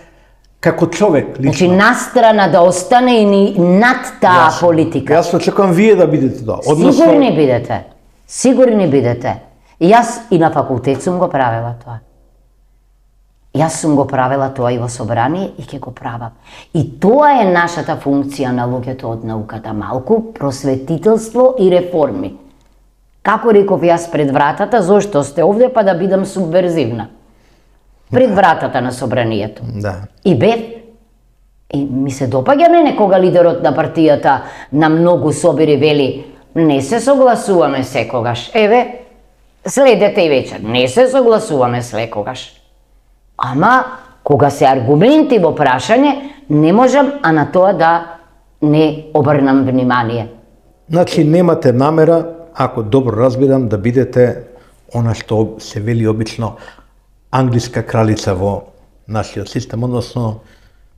како човек лично. Значи настрана да остане и над таа политика. Јас очекувам вие да бидете тоа. Сигурни бидете. Сигурни бидете. И јас и на факултет сум го правела тоа. Јас сум го правела тоа и во собрание и ќе го правам. И тоа е нашата функција на луѓето од науката, малку просветителство и реформи. Како реков јас пред вратата, зошто сте овде, па да бидам субверзивна. Пред вратата на собранието. Да. И бев. И ми се допаѓа мене кога лидерот на партијата на многу собери вели не се согласуваме секогаш. Еве, следете и вечер, не се согласуваме секогаш. Ама, кога се аргументи во прашање, не можам, а на тоа да не обрнам внимание. Значи, немате намера, ако добро разбирам, да бидете она што се вели обично англиска кралица во нашиот систем, односно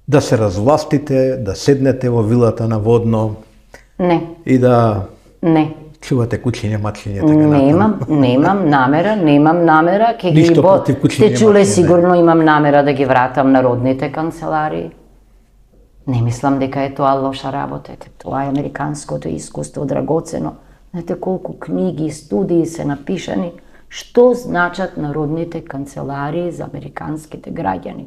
да се развластите, да седнете во вилата на Водно. Не. И да не чувате кучиње, мачиње, така натаму. Немам намера, ќе ги сте чуле сигурно имам намера да ги вратам народните канцеларии. Не мислам дека е тоа лоша работа, тоа е американското искуство драгоцено. Знаете колку книги и студии се напишани, што значат народните канцеларии за американските граѓани.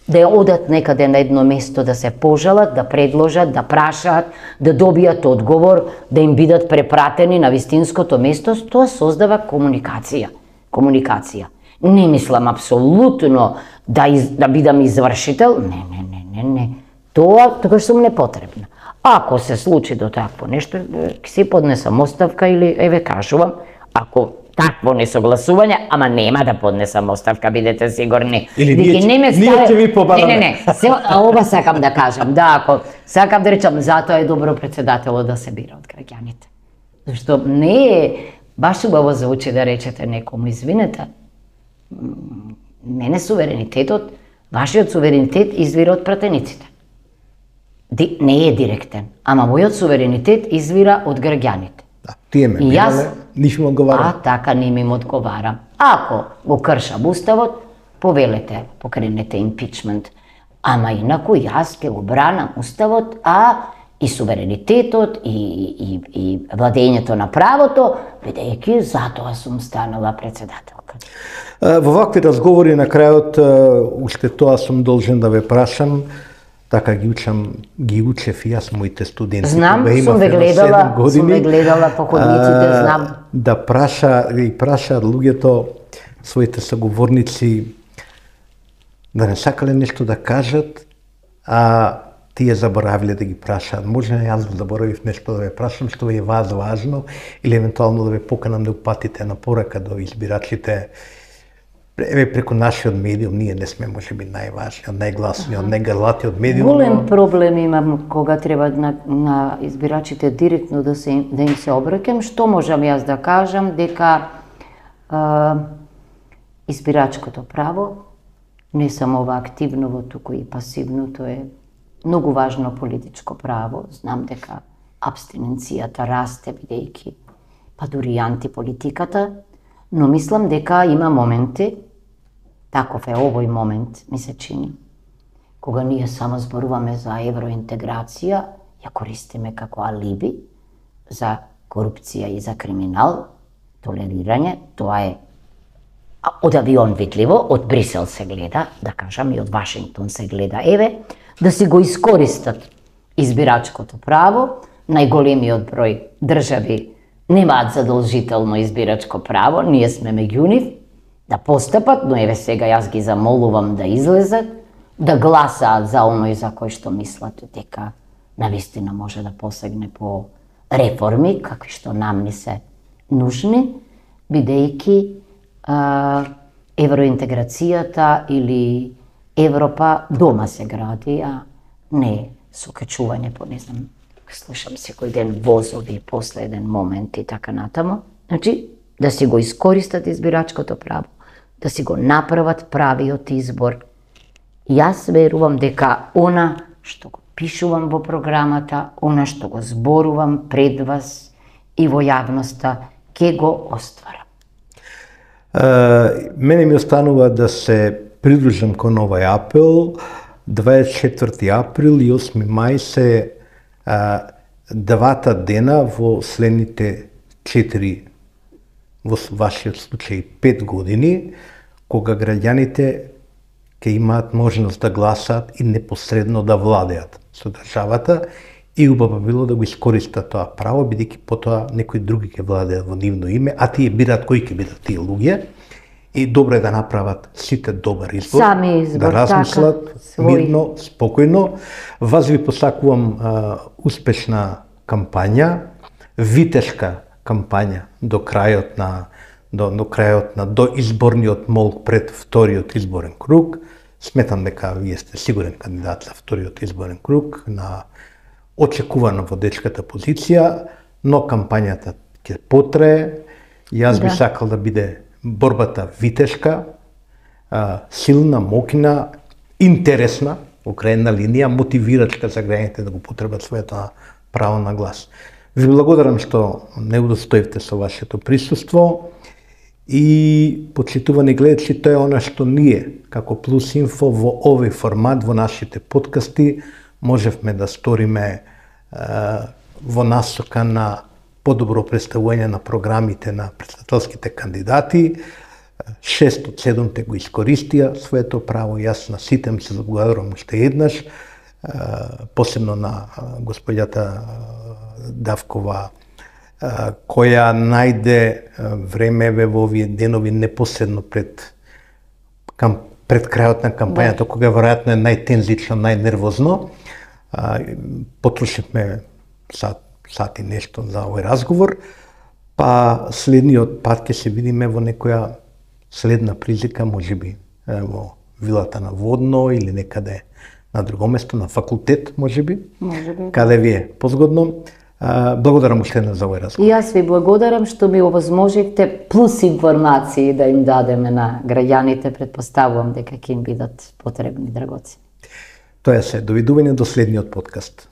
Да ја одат некаде на едно место да се пожалат, да предложат, да прашаат, да добијат одговор, да им бидат препратени на вистинското место, тоа создава комуникација. Не мислам апсолутно да бидам извршител, не. Не. Тоа сум непотребна. Ако се случи до такво нешто, ќе си поднесам оставка или, еве кажувам, ако такво несогласување, ама нема да поднесам оставка, бидете сигурни. Или ние ќе ви побараме. Не, ова сакам да кажам, да, ако сакам да речам, затоа е добро председателот да се бира од граѓаните. Зашто не е баш убаво за очи да речете некому, извинете, мене суверенитетот, вашиот суверенитет извира од пратениците. Не е директен, ама мојот суверенитет извира од граѓаните. Тие ме бирале, ниш ми одговарам. Така не ми одговарам. Ако го кршам уставот, повелете, покренете импичмент. Ама инаку јас ќе го бранам уставот, и суверенитетот, и владењето на правото, бидејќи затоа сум станала председателка. Во вакви разговори на крајот, уште тоа сум должен да ве прашам, така ги учев и јас моите студенти. Знам, сум ве гледала по ходниците, знам. Да прашаат луѓето, своите саговорници, да не сакале нешто да кажат, а тие заборавиле да ги прашаат. Може јас заборавив нешто да ве прашам, што е важно, или евентуално да ве поканам да упатите на порака до избирачите. Еве преку нашиот медиум, ние не сме можеби најважниот, најгласниот, најгрлатиот медиум. Голем проблем имам кога треба на избирачите директно да им се обраќам. Што можам јас да кажам, дека избирачкото право не само ова активно, туку и пасивното е многу важно политичко право. Знам дека абстиненцијата расте бидејќи дури и антиполитиката, но мислам дека има моменти, таков е овој момент, ми се чини, кога ние само зборуваме за евроинтеграција, ја користиме како алиби за корупција и за криминал, толерирање, тоа е од авион видливо, од Брисел се гледа, да кажам, и од Вашингтон се гледа, еве, да си го искористат избирачкото право, најголемиот број држави немаат задолжително избирачко право, ние сме меѓу нив, да постапат, но еве сега јас ги замолувам да излезат, да гласаат за оној за кој што мислат дека навистина може да посегне по реформи, какви што нам ни се нужни, бидејќи евроинтеграцијата или Европа дома се гради, а не со качување по, не знам, слушам секој ден возови, после еден момент и така натаму. Значи, да си го искористат избирачкото право, да си го направат правиот избор. Јас верувам дека она што го пишувам во програмата, она што го зборувам пред вас и во јавноста, ќе го остварам. Мене ми останува да се придружам кон овај апел. 24 април и 8 мај се двата дена во следните 4, во вашиот случај 5 години, кога граѓаните ќе имаат можност да гласаат и непосредно да владеат со државата, и убаво било да го искористат тоа право, бидејќи потоа некои други ќе владеат во нивно име, а тие бираат кои ќе бидат тие луѓе, и добро е да направат сите добар избор, сами избор, да размислат мирно, спокојно. Вас ви посакувам успешна кампања, витешка кампања до крајот на доизборниот молк пред вториот изборен круг. Сметам дека вие сте сигурен кандидат за вториот изборен круг, на очекувана водечката позиција, но кампањата ќе потрае. Јас би сакал да биде борбата витешка, силна, мокна, интересна, во крајна линија, мотивирачка за граѓаните да го потребат своето право на глас. Ви благодарам што не удостоивте со вашето присуство и, почитувани гледачи, тоа е она што ние, како Плюс Инфо, во овој формат, во нашите подкасти, можевме да сториме во насока на подобро представување на програмите на председателските кандидати. 6 од 7 го искористија своето право. Јас на сите се благодарам уште еднаш, посебно на господјата Давкова, која најде време во овие денови непосредно пред пред крајот на кампањата, кога веројатно е најтензично, најнервозно. Потрошивме сат и нешто за овој разговор, па следниот пат ќе се видиме во некоја следна прилика, можеби во вилата на Водно или некаде на друго место, на факултет, можеби. Каде ви е позгодно. Благодарам уште за овој разговор. И јас ви благодарам што ми овозможивте плюс информации да им дадеме на граѓаните, претпоставувам дека ќе им бидат потребни, драгоцени. Тоа е се. Довидување до следниот подкаст.